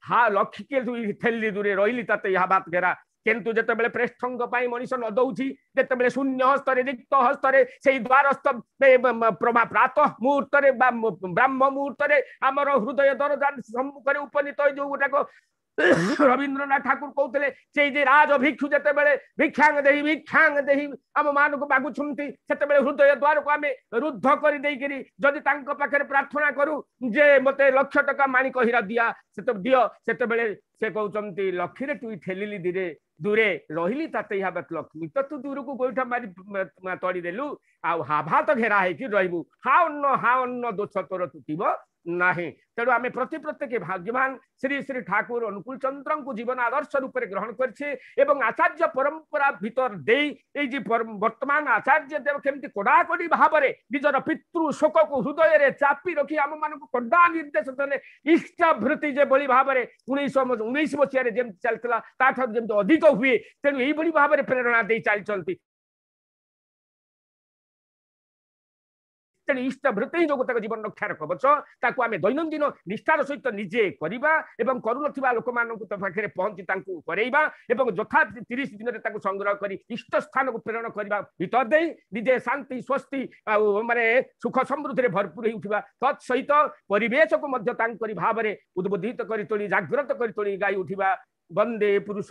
ହା ଲକ୍ଷିକେ ତୁଇ ଠେଲି ଦୂରେ ରହିଲି ତତେ ଏହା ବାତ ଘେରା। କିନ୍ତୁ ଯେତେବେଳେ ପ୍ରେଷ୍ଠଙ୍କ ପାଇଁ ମଣିଷ ନ ଦଉଛି, ଯେତେବେଳେ ଶୂନ୍ୟ ହସ୍ତରେ ରିକ୍ତ ହସ୍ତରେ ସେଇ ଦ୍ୱାରସ୍ଥ ପ୍ରାତଃ ମୁହୂର୍ତ୍ତରେ ବା ବ୍ରାହ୍ମ ମୁହୂର୍ତ୍ତରେ ଆମର ହୃଦୟ ଦରଜା ସମ୍ମୁଖରେ ଉପନୀତ ଯୋଉ ଗୋଟାକ ରବୀନ୍ଦ୍ରନାଥ ଠାକୁର କହୁଥିଲେ, ସେଇ ଯେ ରାଜ ଭିକ୍ଷୁ ଯେତେବେଳେ ଭିକ୍ଷାଙ୍ଗ ଦେହି ଭିକ୍ଷାଙ୍ଗ ଦେହି ଆମ ମାନଙ୍କୁ ମାଗୁଛନ୍ତି, ସେତେବେଳେ ହୃଦୟ ଦ୍ୱାରକୁ ଆମେ ରୁଦ୍ଧ କରିଦେଇକିରି ଯଦି ତାଙ୍କ ପାଖରେ ପ୍ରାର୍ଥନା କରୁ ଯେ ମତେ ଲକ୍ଷ ଟଙ୍କା ମାଣିକ ହୀରା ଦିଆ ସେତେ ଦିଅ, ସେତେବେଳେ ସେ କହୁଛନ୍ତି ଲକ୍ଷୀରେ ତୁଇ ଠେଲିଲି ଧୀରେ ଦୂରେ ରହିଲି ତାତେ ହାବାତ ଲକ୍ଷ୍ମୀ ତ ତୁ ଦୂରକୁ ଗୋଇଠା ମାରି ତଡ଼ି ଦେଲୁ, ଆଉ ହାଭାତ ଘେରା ହେଇକି ରହିବୁ, ହା ଅନ୍ନ ହା ଅନ୍ନ ଦୋଷ ତୋର ତୁଟିବ ନାହିଁ। ତେଣୁ ଆମେ ପ୍ରତି ପ୍ରତ୍ୟେକ ଭାଗ୍ୟବାନ ଶ୍ରୀ ଶ୍ରୀ ଠାକୁର ଅନୁକୂଳ ଚନ୍ଦ୍ରଙ୍କୁ ଜୀବନ ଆଦର୍ଶ ରୂପରେ ଗ୍ରହଣ କରିଛେ ଏବଂ ଆଚାର୍ଯ୍ୟ ପରମ୍ପରା ଭିତର ଦେଇ ଏଇ ଯେ ବର୍ତ୍ତମାନ ଆଚାର୍ଯ୍ୟ ଦେବ କେମିତି କଡ଼ାକଡ଼ି ଭାବରେ ନିଜର ପିତୃ ଶୋକକୁ ହୃଦୟରେ ଚାପି ରଖି ଆମମାନଙ୍କୁ କଡ଼ା ନିର୍ଦ୍ଦେଶ ଦେଲେ, ଇଷ୍ଟଭୃତି ଯେଭଳି ଭାବରେ 1919 ମସିହାରେ ଯେମିତି ଚାଲିଥିଲା ତାଠାରୁ ଯେମିତି ଅଧିକ ହୁଏ, ତେଣୁ ଏଇଭଳି ଭାବରେ ପ୍ରେରଣା ଦେଇ ଚାଲିଛନ୍ତି। ତେଣୁ ଇଷ୍ଟଭୃତି ହିଁ ଜଗତକ ଜୀବନ ରକ୍ଷାର କବଚ। ତାକୁ ଆମେ ଦୈନନ୍ଦିନ ନିଷ୍ଠାର ସହିତ ନିଜେ କରିବା ଏବଂ କରୁନଥିବା ଲୋକମାନଙ୍କୁ ତ ପାଖରେ ପହଞ୍ଚି ତାଙ୍କୁ କରେଇବା ଏବଂ ଯଥା 30 ଦିନରେ ତାକୁ ସଂଗ୍ରହ କରି ଇଷ୍ଟ ସ୍ଥାନକୁ ପ୍ରେରଣ କରିବା ଭିତର ଦେଇ ନିଜେ ଶାନ୍ତି ସ୍ୱସ୍ତି ଆଉ ମାନେ ସୁଖ ସମୃଦ୍ଧିରେ ଭରପୁର ହେଇ ଉଠିବା। ତତ୍ ସହିତ ପରିବେଶକୁ ମଧ୍ୟ ତାଙ୍କରି ଭାବରେ ଉଦ୍ବୋଧିତ କରି ତୋଳି, ଜାଗ୍ରତ କରି ତୋଳି ଗାଇ ଉଠିବା ବନ୍ଦେ ପୁରୁଷ